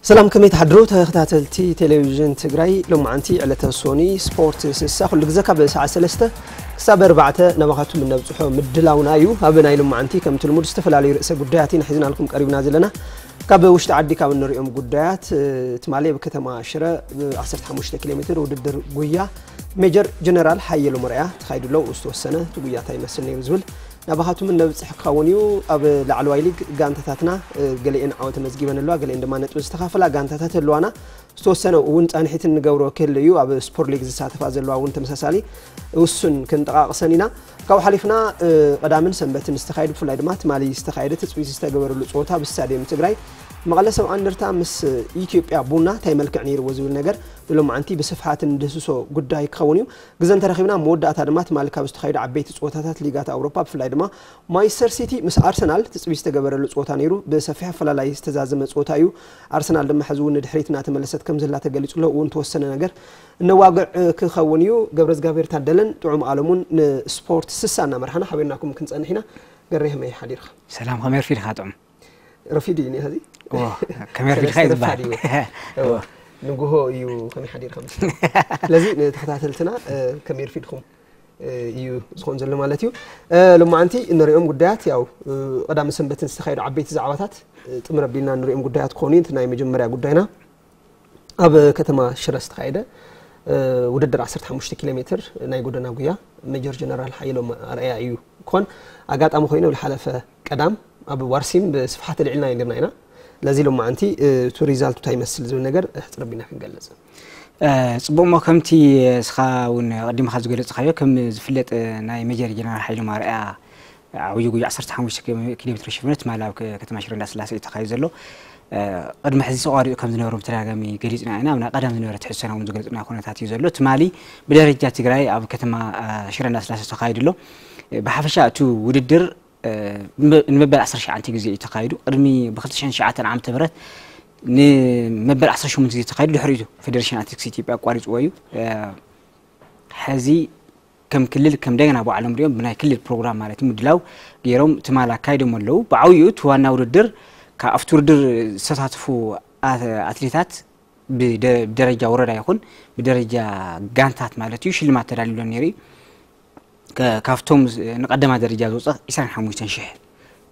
ሰላም፣ ከመይ ትሓድሩ ተኸታተልቲ ቴሌቪዥን ትግራይ? ሎማዓንቲ ዕለተ ሶኒ ስፖርት ስሳ ኩሉ ግዜ ካብ ሰዓት ሰለስተ ክሳብ ኣርባዕተ ናባኻትኩም እነብፅሖ ምድላውና እዩ። ኣብ ናይ ሎማዓንቲ ከምቲ ልሙድ ዝተፈላለዩ ርእሰ ጉዳያት ኢና ሒዝናልኩም ቀሪብና ዘለና። ካብ ውሽጢ ዓዲ ካብ እንሪኦም ጉዳያት፣ እ፣ ትማሊ ኣብ ከተማ ሽረ ብ ዓሰርተ ሓሙሽተ ኪሎ ሜትር ውድድር ጉያ ሜጀር ጀነራል ሓየሎም ኣርኣያ ተኻይዱ ኣሎ። ዝተወሰነ እቲ ጉያ እንታይ ይመስል ነይሩ ዝብል ናባኻትኩም እነብፅሕ ክኸውን እዩ። ኣብ ላዕለዋይ ሊግ ጋንታታትና፣ እ፣ ገሊኤን ዓወት ኣመዝጊበን ኣለዋ፣ ገሊኤን ድማ ነጥቢ ዝተኻፈላ ጋንታታት ኣለዋና። ዝተወሰነ እውን ፃንሒት እንገብሮ ክህሉ እዩ። ኣብ ስፖርት ሊግ ዝሳተፋ ዘለዋ እውን ተመሳሳሊ ውሱን ክንጠቃቅሰን ኢና። ካብኡ ሓሊፍና፣ እ፣ ቀዳምን ሰንበትን ዝተኻየዱ፣ ብፍላይ ድማ ትማሊ ዝተኻየደ ትፅቢት ዝተገበረሉ ፀወታ ብስታዲየም ትግራይ መቐለ ሰብዓ እንደርታ ምስ ኢትዮጵያ ቡና እንታይ መልክዕ ነይርዎ ዝብል ነገር ንሎማዓንቲ ብስፍሓት እንደህስሶ ጉዳይ ክኸውን እዩ። ግዘ እንተረኺብና መወዳእታ ድማ ትማሊ ካብ ዝተኻየዱ ዓበይቲ ፀወታታት ሊጋት ኣውሮፓ ብፍላይ ድማ ማንቸስተር ሲቲ ምስ ኣርሰናል ትፅቢት ዝተገበረሉ ፀወታ ነይሩ። ብሰፊሕ ኣፈላላይ ዝተዛዘመ ፀወታ እዩ። ኣርሰናል ድማ ሕዚ እውን ንድሕሪት እናተመለሰት ከም ዘላ ተገሊፁ ኣሎ። እውን ተወሰነ ነገር እነዋግዕ ክኸውን እዩ። ገብረ እግዚኣብሔር ታደለን ጥዑም ኣለሙን ንስፖርት ስሳ እናመርሓና ሓቢርናኩም ክንፀንሕ ኢና። ገሬ ከመይ ሓዲርካ? ሰላም፣ ከመይ ኣርፊድካ ጥዑም? ረፊዱ እዩ እኒኦ ሕዚ። እዎ፣ ከመይ ኣርፊድካ እዩ ሰለስተ ዝበሃል። ረፋድ እዩ። እዎ። እዎ። ንጉሆ እዩ ከመይ ሓዲርካ ምስ ስለዚ ንተኸታተልትና፣ እ፣ ከመይ ኣርፊድኩም፣ እ፣ እዩ ዝኾን ዘሎ ማለት እዩ። እ፣ ሎማዓንቲ እንሪኦም ጉዳያት ያው፣ እ፣ ቀዳምን ሰንበትን ዝተኻየዱ ዓበይቲ ዛዕባታት፣ እ፣ ጥምር ኣቢልና እንሪኦም ጉዳያት ክኾኑ እዩ። እቲ ናይ መጀመርያ ጉዳይና ኣብ ከተማ ሽረ ዝተኻየደ፣ እ፣ ውድድር ዓሰርተ ሓሙሽተ ኪሎ ሜትር ናይ ጎደና ጉያ ሜጀር ጀነራል ሓየሎም ኣርኣያ እዩ ክኾን። ኣጋጣሚ ኮይኑ ኣብ ዝሓለፈ ቀዳም ኣብ ዋርሲም ብስፍሓት ኣልዒልና ነይርና ኢና። ለዚ ሎማዓንቲ፣ እ፣ እቲ ሪዛልቱ እንታይ ይመስል ዝብል ነገር ሕፅር ኣቢልና ክንገልፅ። እ፣ ፅቡቅ እሞ ከምቲ እስኻ እውን ኣቐዲምካ ዝገለፅካዮ ከም ዝፍለጥ ናይ ሜጀር ጀነራል ሓየሎም ኣርኣያ ዓብዪ ጉያ ዓሰርተ ሓሙሽተ ኪሎ ሜትር ሽፍነት ትማሊ ኣብ ከ-፣ ከተማ ሽረ እንዳስላሴ እዩ ተኻይዱ ዘሎ። እ፣ ቅድሚ ሕዚ ተቋሪፁ ከም ዝነበሩ ብተደጋጋሚ ገሊፅና ኢና። ኣብ ናይ ቀደም ዝነበረ ትሕዝቶና እውን ዝገለፅና ኩነታት እዩ ዘሎ። ትማሊ ብደረጃ ትግራይ ኣብ ከተማ፣ እ፣ ሽረ እንዳስላሴ ተኻይዱ ኣሎ። እ፣ ብሓፈሻ እቲ ውድድር፣ እ፣ ንመ-፣ ንመበል ዓሰርተ ትሽዓተ ግዜ እዩ ተኻይዱ። ቅድሚ ብክልተ ሽሕን ትሽዓተን ዓመተ ምህረት ንመበል ዓሰርተ ሸሞንተ ግዜ ተኻይዱ። ድሕሪኡ ፌደሬሽን ኣትሌቲክስ ኢትዮጵያ ኣቋሪፅዎ እዩ። እ፣ ሕዚ ከም ክልል ከም እንደገና ባዕሎም ሪኦም ብናይ ክልል ፕሮግራም ማለት እዩ ምድላው ገይሮም ትማል ኣካይዶም ኣለዉ። ብዓብይኡ እቲ ዋና ውድድር ካብ ኣብቲ ውድድር ዝተሳተፉ ኣት-፣ ኣትሌታት ብደ-፣ ብደረጃ ወረዳ ይኹን ብደረጃ ጋንታት ማለት እዩ ሽልማት ተዳልዩሎም ነይሩ እዩ። ከ-፣ ካብቶም ዝ-፣ ንቀዳማይ ደረጃ ዝወፀ ዒስራን ሓሙሽተን ሽሕ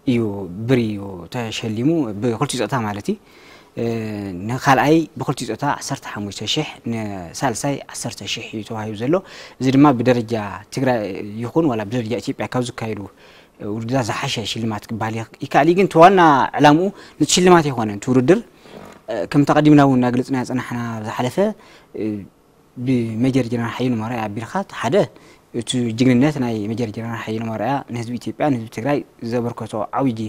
እዩ ብር እዩ ተሸሊሙ፣ ብክልቲኡ ፆታ ማለት እዩ። እ፣ ንካልኣይ ብክልቲኡ ፆታ ዓሰርተ ሓሙሽተ ሽሕ፣ ንሳልሳይ ዓሰርተ ሽሕ እዩ ተዋሂቡ ዘሎ። እዚ ድማ ብደረጃ ትግራይ ይኹን ዋላ ብደረጃ ኢትዮጵያ ካብ ዝካየዱ ውድድራት ዝሓሸ ሽልማት ክበሃል ይኽ-፣ ይከኣል እዩ። ግን እቲ ዋና ዕላምኡ ነቲ ሽልማት ኣይኮነን። እቲ ውድድር፣ እ፣ ከምቲ ኣቐዲምና እውን እናገለፅና ዝፀናሕና ዝሓለፈ፣ እ፣ ብሜጀር ጀነራል ሓየሎም ኣርኣያ ኣቢልካ፣ ሓደ፣ እቲ ጅግንነት ናይ ሜጀር ጀነራል ሓየሎም ኣርኣያ ንህዝቢ ኢትዮጵያ፣ ንህዝቢ ትግራይ ዘበርከቶ ዓብዪ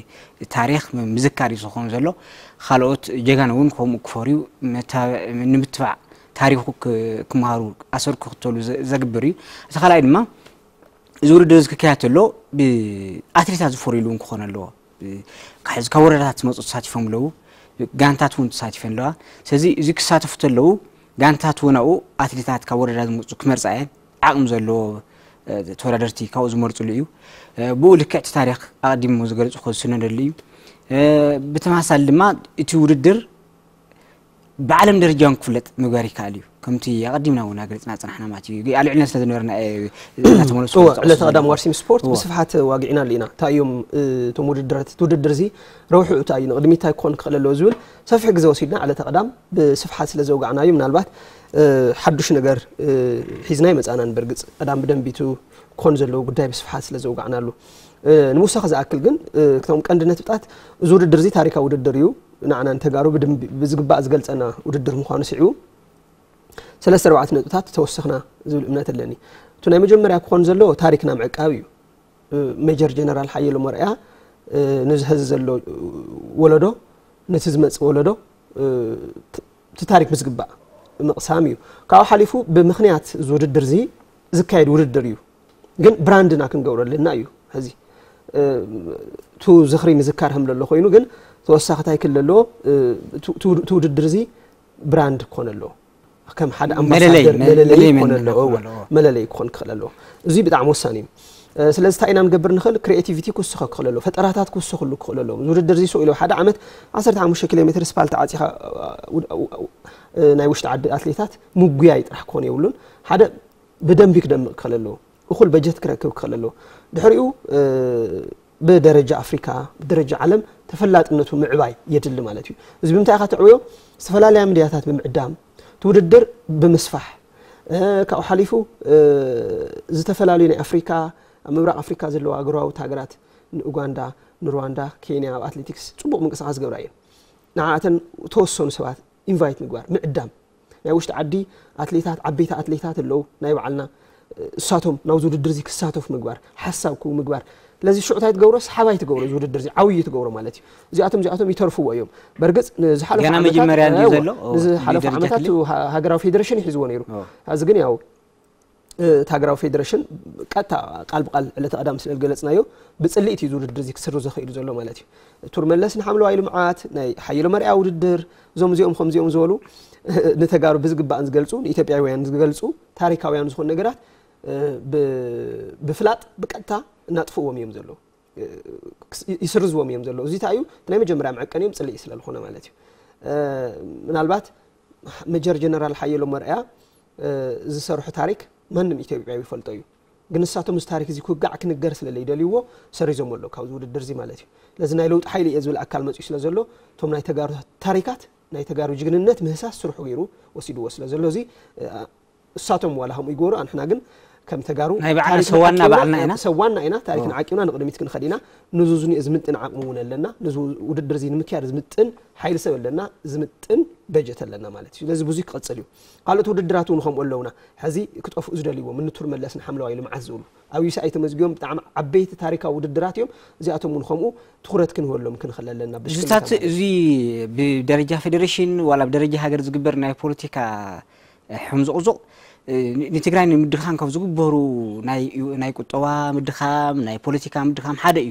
ታሪኽ ምዝካር እዩ ዝኸውን ዘሎ። ካልኦት ጀጋኑ እውን ከምኡ ክፈርዩ፣ መታ-፣ ንምትባዕ ታሪኹ ክ-፣ ክመሃሩ፣ ኣሰር ክኽተሉ ዘ-፣ ዘግብር እዩ። እቲ ካልኣይ ድማ፣ እዚ ውድድር እዚ ክካየድ ተሎ ብኣትሌታት ዝፈርዩሉ እውን ክኾን ኣለዎ። ብ-፣ ካብ ሕዚ ካብ ወረዳታት ዝመፁ ተሳቲፎም ኣለዉ። ጋንታት እውን ተሳቲፈን ኣለዋ። ስለዚ እዚ ክሳተፉ ተለዉ ጋንታት እውን ኣብኡ ኣትሌታት ካብ ወረዳ ዝመፁ ክመርፃ እየን። ዓቕሚ ዘለዎ፣ እ፣ ተወዳደርቲ ካብኡ ዝመርፅሉ እዩ። እ፣ ብኡ ልክዕ እቲ ታሪኽ ኣቐዲሙ ዝገልፁ ክስነደሉ እዩ። እ፣ ብተመሳሳሊ ድማ እቲ ውድድር ብዓለም ደረጃ እውን ክፍለጥ ምግባር ይከኣል እዩ። ከምቲ ኣቐዲምና እውን ኣገሊፅና ዝፀናሕና ማለት እዩ። ኣልዒልና ስለ ዝነበርና፣ እ፣ እናተመለስኩ እወ፣ ዝጠቐስኩ ዕለተ ቀዳም ዘለኹ። ዋርሲም ስፖርት እወ። ብስፍሓት ዋጊዕናሉ ኢና። እንታይ እዮም፣ እ፣ እቶም ውድድራት፣ እቲ ውድድር እዚ ረብሕኡ እንታይ እዩ፣ ንቕድሚት እንታይ ክኾን ክኽእል ኣለዎ ዝብል ሰፊሕ ግዜ ወሲድና ዕለተ ቀዳም ብስፍሓት ስለ ዘውጋዕናዮ፣ ምናልባት፣ እ፣ ሓዱሽ ነገር፣ እ፣ ሒዝና ኣይመጻእናን። በርግጽ ቀዳም ብደንቢ እቲ ክኾን ዘለዎ ጉዳይ ብስፍሓት ስለ ዘውጋዕናሉ፣ እ፣ ንምውሳኽ ዝኣክል ግን፣ እ፣ እቶም ቀንዲ ነጥብታት፣ እዚ ውድድር እዚ ታሪካዊ ውድድር እዩ። ንዓና ንተጋሩ ብደንቢ ብዝግባእ ዝገልጸና ውድድር ምዃኑ ስዒቡ፣ ሰለስተ ኣርባዕተ ነጥብታት ተወሰኽና ዝብል እምነት ኣለኒ። እቲ ናይ መጀመርያ ክኾን ዘለዎ ታሪክና ምዕቃብ እዩ። እ፣ ሜጀር ጀነራል ሓየሎም ኣርኣያ፣ እ፣ ነዚ ሐዚ ዘሎ፣ እ፣ ወለዶ፣ ነቲ ዝመጽእ ወለዶ፣ እ፣ ት-፣ እቲ ታሪክ ብዝግባእ ምቕሳም እዩ። ካብኡ ሓሊፉ ብምኽንያት እዚ ውድድር እዚ ዝካየድ ውድድር እዩ። ግን ብራንድና ክንገብሮ ኣለና እዩ። ሕዚ፣ እ፣ እቱ ዝኽሪ ምዝካር ከም ዘሎ ኮይኑ፣ ግን ተወሳኺ እንታይ ክህሉ ኣለዎ? እ፣ እቱ፣ እቱ፣ እቱ ውድድር እዚ ብራንድ ክኾን ኣለዎ። ከም ሓደ መለለይ፣ ኣምባሳደር መ-፣ መለለይ መለለይ ክኾን መንነት ኣለዎ። ክኾን እወ፣ ኣለዎ። መለለይ ክኾን ክኽእል ኣለዎ። እዚ ብጣዕሚ ወሳኒ እዩ። ስለዚ እንታይ ኢና ንገብር ንኽእል? ክሪኤቲቪቲ ክውስኸ ክኽእል ኣለዎ፣ ፈጠራታት ክውስኽሉ ክኽእል ኣለዎም። እዚ ውድድር እዚ ስቕ ኢሉ ሓደ ዓመት ዓሰርተ ሓሙሽተ ኪሎ ሜትር ስፓልት ዓፂኻ ናይ ውሽጢ ዓዲ ኣትሌታት ምጉያይ ጥራሕ ክኾን የብሉን። ሓደ ብደንቢ ክደምቕ ክኽእል ኣለዎ፣ እኹል በጀት ክረክብ ክኽእል ኣለዎ። ድሕሪኡ ብደረጃ ኣፍሪካ፣ ብደረጃ ዓለም ተፈላጥነቱ ምዕባይ የድሊ ማለት እዩ። እዚ ብምንታይ ኢኻ ትዕብዮ? ዝተፈላለያ ሚድያታት ብምዕዳም፣ እቲ ውድድር ብምስፋሕ፣ ካብኡ ሓሊፉ ዝተፈላለዩ ናይ ኣፍሪካ፣ ኣብ ምብራቕ ኣፍሪካ ዘለዋ ጎረባብቲ ሃገራት፣ ንኡጋንዳ፣ ንሩዋንዳ፣ ኬንያ ኣብ ኣትሌቲክስ ፅቡቕ ምንቅስቃስ ዝገብራ እየን። ንዓኣተን ተወሰኑ ሰባት ኢንቫይት ምግባር፣ ምዕዳም፣ ናይ ውሽጢ ዓዲ ኣትሌታት፣ ዓበይቲ ኣትሌታት ኣለዉ ናይ ባዕልና፣ እሳቶም ናብዚ ውድድር እዚ ክሳተፉ ምግባር፣ ሓሳብ ክህቡ ምግባር። ስለዚ ሽዑ እንታይ ትገብሮ? ሰሓባይ ትገብሮ፣ እዚ ውድድር እዚ ዓብዪ ትገብሮ ማለት እዩ። እዚኣቶም እዚኣቶም ይተርፍዎ እዮም። በርግፅ ንዝሓለፉ ገና ዓመታት፣ መጀመርያ እንድዩ እወ፣ ዘሎ። እወ፣ ንዝሓለፉ ብደረጃ ዓመታት ክልል? ሃ-፣ ሃገራዊ ፌዴሬሽን ይሒዝዎ ነይሩ። እወ። ሕዚ ግን ያው እቲ ሃገራዊ ፌዴሬሽን ቀጥታ ቃል ብቃል ዕለተ ቀዳም ስለ ዝገለፅናዮ፣ ብፅልኢት እዩ እዚ ውድድር እዚ ክስርዞ ክኢሉ ዘሎ ማለት እዩ። ቱር መለስ ንሓምለዋይ ልምዓት፣ ናይ ሓየሎም ኣርኣያ ውድድር፣ እዞም እዚኦም ከምዚኦም ዝበሉ ንተጋሩ ብዝግባእን ዝገልፁ፣ ንኢትዮጵያውያን ዝገልፁ ታሪካውያን ዝኾኑ ነገራት ብ-፣ ብፍላጥ ብቀጥታ እናጥፍዎም እዮም ዘለዉ። ክስ-፣ ይስርዝዎም እዮም ዘለዉ። እዚ እንታይ እዩ? እቲ ናይ መጀመርያ መዐቀኒኦም ፅልኢ ስለ ዝኾነ ማለት እዩ። ምናልባት መጀር ጀነራል ሓየሎም ኣርኣያ ዝሰርሖ ታሪክ ማንም ኢትዮጵያዊ ይፈልጦ እዩ። ግን ንሳቶም እዚ ታሪክ እዚ ክውጋዕ ክንገር ስለ ዘይደልይዎ ሰሪዞም ኣለዉ ካብዚ ውድድር እዚ ማለት እዩ። ስለዚ ናይ ለውጢ ሓይሊ እየ ዝብል ኣካል መፅኡ ስለ ዘሎ፣ እቶም ናይ ተጋሩ ታሪካት፣ ናይ ተጋሩ ጅግንነት ምህሳስ ስርሑ ገይሩ ወሲድዎ ስለ ዘሎ፣ እዚ እሳቶም ዋላ ከምኡ ይገብሩ፣ ኣንሕና ግን ከም ተጋሩ ናይ ባዕልና ታሪክና ሰዋና ዓቂብና፣ ባዕልና ኢና። ሰዋና ኢና፣ ታሪክና ኦ። ዓቂብና ንቕድሚት ክንኸድ ኢና። ንዙ ዝኒኦ ዝምጥን ዓቕሚ እውን ኣለና። ንዙ ውድድር እዚ ንምክያድ ዝምጥን ሓይሊ ሰብ ኣለና፣ ዝምጥን በጀት ኣለና ማለት እዩ። ስለዚ ብዙይ ክቐጽል እዩ። ካልኦት ውድድራት እውን ከምኡ ኣለውና። ሕዚ ክጠፍኡ ዝደልይዎም፣ እኒ ቱር መለስ ንሓምለዋይ ልምዓት ዝብሉ፣ ኣብ ዩኤስኤኣይ ተመዝጊቦም ብጣዕሚ ዓበይቲ ታሪካዊ ውድድራት እዮም። እዚኣቶም እውን ከምኡ ትኹረት ክንህበሎም ክንኽእል ኣለና። ብሽክለታ ዝታት ማለት እዩ። እዚ ብደረጃ ፌዴሬሽን ዋላ ብደረጃ ሃገር ዝግበር ናይ ፖለቲካ ሕምዝቑዙቕ፣ እ፣ ን-፣ ንትግራይ ንምድኻም ካብ ዝግበሩ ናይ፣ ናይ ቁጠባ ምድኻም፣ ናይ ፖለቲካ ምድኻም ሓደ እዩ።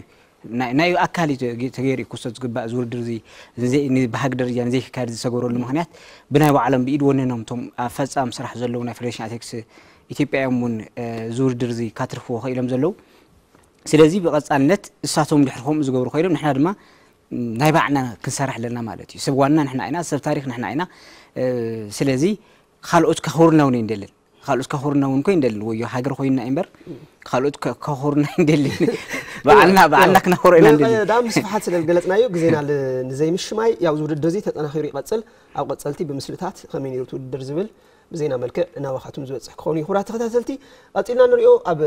ናይ፣ ናይ ኣካል እዩ ተገ-፣ ተገይሩ እዩ ክውሰድ ዝግባእ እዚ ውድድር እዚ። ንዘይ-፣ ን-፣ ብሃግ ደረጃ ንዘይክካየድ ዝሰገረሉ ምኽንያት ብናይ ባዕሎም ብኢድ ወነኖም እቶም ኣብ ፈጻሚ ስራሕ ዘለዉ ናይ ፌደሬሽን ኣትሌቲክስ ኢትዮጵያ እዮም እውን፣ እ፣ እዚ ውድድር እዚ ካትርፍዎ ክኢሎም ዘለዉ። ስለዚ ብቐጻልነት እሳቶም ድሕሪ ከምኡ ዝገብሩ ኮይኖም ንሕና ድማ ናይ ባዕልና ክንሰርሕ ኣለና ማለት እዩ። ሰብ ዋና ንሕና ኢና፣ ሰብ ታሪክ ንሕና ኢና። እ፣ ስለዚ ካልኦት ከኽብሩና እውን ኣይንደልን። ካልኦት ከኽብሩና እውን እኮ ኣይንደልን። ወዮ ሃገር ኮይንና እምበር ካልኦት ከ-፣ ከኽብሩና ኣይንደልን። ባዕልና፣ ባዕልና ክነኽብሮ ኢና ንደሊ። ብቐዳም ስፍሓት ስለ ዝገለጽናዮ ግዜና ል-፣ ንዘይምሽማይ ያው እዚ ውድድር እዚ ተጠናኺሩ ይቐጽል። ኣብ ቀጸልቲ ብምስልታት ከመይ ነይሩ እቲ ውድድር ዝብል ብዜና መልክዕ ናባኻትኩም ዝበጽሕ ክኸውን እዩ። ክቡራት ተኸታተልቲ፣ ቀጺልና ንሪኦ ኣብ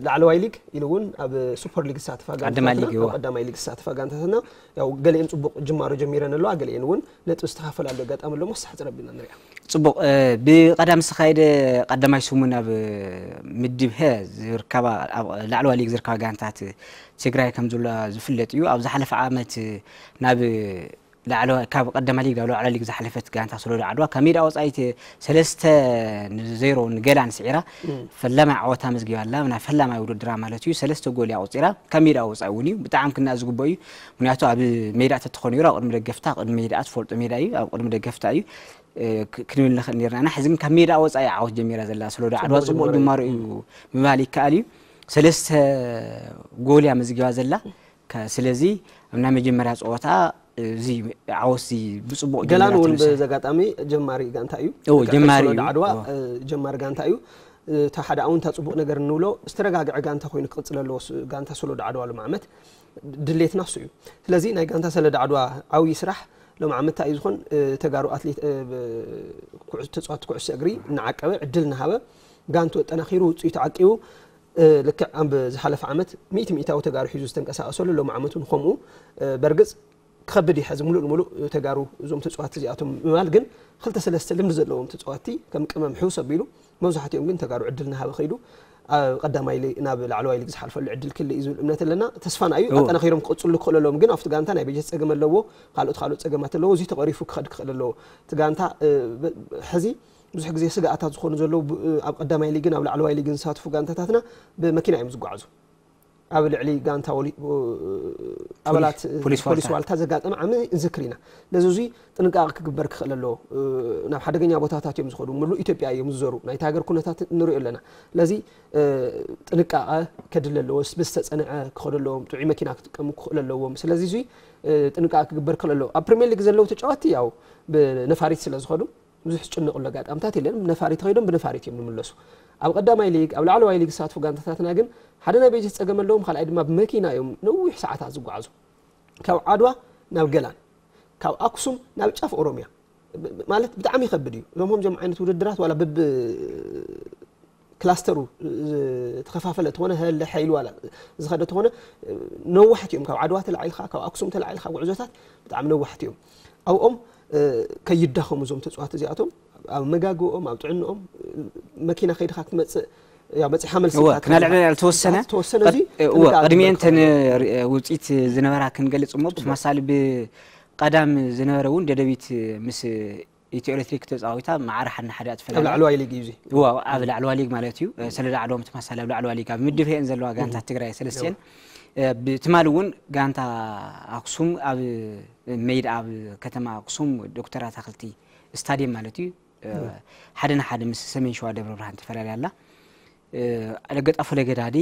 ላዕለዋይ ሊግ ኢሉ እውን ኣብ ሱፐር ሊግ ዝሳተፋ ቀዳማይ ጋንታታትና፣ ሊግ፣ እወ። ኣብ ቀዳማይ ሊግ ዝሳተፋ ጋንታታትና ያው ገሊኤን ጽቡቕ ጅማሮ ጀሚረን ኣለዋ፣ ገሊኤን እውን ነጥቢ ዝተኻፈላለ ኣጋጣሚ ኣሎ። እሞ ሳሕ ረቢና ንሪኣ። ጽቡቕ፣ እ፣ ብቐዳም ዝተኻየደ ቀዳማይ ሰሙን ኣብ ምድብ ሀ ዝርከባ፣ ኣብ ላዕለዋይ ሊግ ዝርከባ ጋንታት ትግራይ ከም ዘሎ ዝፍለጥ እዩ። ኣብ ዝሓለፈ ዓመት ናብ ላዕለዋይ፣ ካብ ቀዳማይ ሊግ ናብ ላዕለዋይ ሊግ ዝሓለፈት ጋንታ ሶሎዳ ዓድዋ ካብ ሜዳ ወጻኢ ተ-፣ ሰለስተ ንዜሮ ንገላን ስዒራ እም። ፈላማይ ዓወታ ኣመዝጊባ ኣላ። ናይ ፈላማይ ውድድራ ማለት እዩ። ሰለስተ ጎል እያ ኣቑጺራ። ካብ ሜዳ ወጻኢ እውን እዩ። ብጣዕሚ ክነኣ ዝግብኦ እዩ። ምክንያቱ ኣብ ሜዳ ተትኾን ነይሩ ኣብ ቅድሚ ደገፍታ፣ ኣብ ቅድሚ ሜዳ ትፈልጦ ሜዳ እዩ። ኣብ ቅድሚ ደገፍታ እዩ፣ እ፣ ክ-፣ ክንብል ንኽእል ነርና ኢና። ሕዚ ግን ካብ ሜዳ ወጻኢ ዓወት ጀሚራ ዘላ ሶሎዳ ዓድዋ ጽቡቕ ጽቡቕ ጅማሮ እዩ። ጅማሮ እዩ ምባል ይከኣል እዩ። ሰለስተ ጎል እያ ኣመዝጊባ ዘላ። ከ-፣ ስለዚ ኣብ ናይ መጀመርያ ጸወታ እዚ ዓወት እዚ ብጽቡቕ ገላን ጀሚራ እውን ትምስል። በዚ ኣጋጣሚ ጀማሪ ጋንታ እዩ። እዎ፣ ልክዕ ከም ጀማሪ ሶሎዳ እዩ። ዓድዋ፣ እዎ። እ፣ ጀማሪ ጋንታ እዩ። እ፣ እታ ሓደ ኣውንታ ጽቡቕ ነገር እንብሎ ዝተረጋግዐ ጋንታ ኮይኑ ክቕጽል ኣለዎ። ስ-፣ ጋንታ ሶሎዳ ዓድዋ ሎም ዓመት ድሌትና እሱ እዩ። ስለዚ ናይ ጋንታ ሶሎዳ ዓድዋ ዓብዪ ስራሕ ሎም ዓመት እንታይ እዩ ዝኾን? እ፣ ተጋሩ ኣትሌት፣ እ፣ ብ-፣ ኩዕስ-፣ ተጻወትቲ ኩዕሶ እግሪ እናዓቀበ ዕድል እናሃበ ጋንቱ ኣጠናኺሩ ውጽኢቱ ዓቂቡ፣ እ፣ ልክዕ ኣብ ዝሓለፈ ዓመት ሚእቲ ሚእታዊ ተጋሩ ሒዙ ዝተንቀሳቐሰሉ ሎም ዓመት እውን ከምኡ፣ እ፣ በርግጽ ክኸብድ እዩ። ሕዚ ሙሉእ ንሙሉእ ተጋሩ እዞም ተጻወትቲ እዚኣቶም ምባል፣ ግን ክልተ ሰለስተ ልምዲ ዘለዎም ተጻወትቲ ከም ቅመም ሕውስ ኣቢሉ፣ መብዛሕትኦም ግን ተጋሩ ዕድል እናሃበ ከይዱ ኣብ ቀዳማይ ሊ-፣ ናብ ላዕለዋይ ሊግ ዝሓልፈሉ ዕድል ክህሉ እዩ ዝብል እምነት ኣለና። ተስፋና እዩ። እዎ። ኣጠናኺሮም ክቕጽሉ ክኽእሉ ኣለዎም፣ ግን ኣብቲ ጋንታ ናይ በጀት ጸገም ኣለዎ፣ ካልኦት ካልኦት ጸገማት ኣለዎ። እዚ ተቐሪፉ ክኸድ ክኽእል ኣለዎ። እቲ ጋንታ፣ እ፣ ብ-፣ ሕዚ ብዙሕ ግዜ ስግኣታት ዝኾኑ ዘለዉ ብ-፣ ኣብ ቀዳማይ ሊግን ኣብ ላዕለዋይ ሊግን ዝሳተፉ ጋንታታትና ብመኪና እዮም ዝጓዓዙ። ኣብ ልዕሊ ጋንታ ወሊ- ኣባላት ፖሊስ ፖሊስ ዋልታ። ዋልታ ዘጋጠመ ዓሚ ንዝክር ኢና። ነዚ እዙ ጥንቃቐ ክግበር ክኽእል ኣለዎ። ናብ ሓደገኛ ቦታታት እዮም ዝኸዱ፣ ምሉእ ኢትዮጵያ እዮም ዝዞሩ። ናይቲ ሃገር ኩነታት ንሪኦ ኣለና። ስለዚ ጥንቃቐ ከድለ ኣለዎ። ብዝተፀንዐ ክኸዱ ኣለዎም፣ ጥዑይ መኪና ክጥቀሙ ክኽእል ኣለዎም። ስለዚ እዙ ጥንቃቐ ክግበር ክኽእል ኣለዎ። ኣብ ፕሪሚየር ሊግ ዘለዉ ተጫወትቲ ያው ብነፋሪት ስለ ዝኸዱ ብዙሕ ዝጭነቕሉ ኣጋጣምታት የለን። ብነፋሪት ከይዶም ብነፋሪት እዮም ዝምለሱ። ኣብ ቀዳማይ ሊግ፣ ኣብ ላዕለዋይ ሊግ ዝሳትፉ ጋንታታትና ግን ሓደ ናይ በጀት ፀገም ኣለዎም፣ ካልኣይ ድማ ብመኪና እዮም ነዊሕ ሰዓታት ዝጓዓዙ። ካብ ዓድዋ ናብ ገላን፣ ካብ ኣክሱም ናብ ጫፍ ኦሮሚያ ብ- ማለት ብጣዕሚ ይኸብድ እዩ። እዞም ከምዚኦም ዓይነት ውድድራት ዋላ ብብ ክላስተሩ ዝተኸፋፈለ ተኾነ፣ ህለ ሓይሉ ዋላ ዝኸደ ተኾነ፣ ነዋሕቲ እዮም። ካብ ዓድዋ ተላዒልካ፣ ካብ ኣክሱም ተላዒልካ ጉዕዞታት ብጣዕሚ ነዋሕቲ እዮም። ኣብኦም ከይዳኸሙ እዞም ተፅዋት እዚኣቶም ኣብ መጋግኦም፣ ኣብ ጥዕንኦም፣ መኪና ከይድካ ክትመፅእ፣ ያው መፂኻ መልሲ እወ ኢልካ ክናልዕ ትመፅእ። ዝተወሰነ ዝተወሰነ እዚ እወ ጥንቃቐ ቅድሚኤን ክግበር ተን ክኽእል። ውፅኢት ዝነበራ ክንገልፅ እሞ ብተመሳሳሊ ብቀዳም ዝነበረ እውን ደደቢት ምስ ኢትዮ ኤሌክትሪክ ተፃዊታ ማዕረ ሓደ ንሓደ ኣብ ትፈላለያ። ላዕለዋይ ሊግ እዩ እዚ። እወ ኣብ ላዕለዋ ሊግ ማለት እዩ። ሰለዳ ዓድዋ ተመሳሳሊ ኣብ ላዕለዋ ሊግ ኣብ ምድብ ሄን ዘለዋ ጋንታት ትግራይ ሰለስቲኤን ብትማሊ እውን ጋንታ ኣክሱም ኣብ ሜዳ ኣብ ከተማ ኣክሱም ዶክተር ኣታክልቲ ስታዲየም ማለት እዩ ሓደ ንሓደ ምስ ሰሜን ሸዋ ደብረ ብርሃን ተፈላለያ ኣላ። ለገጣፎ ለገዳዲ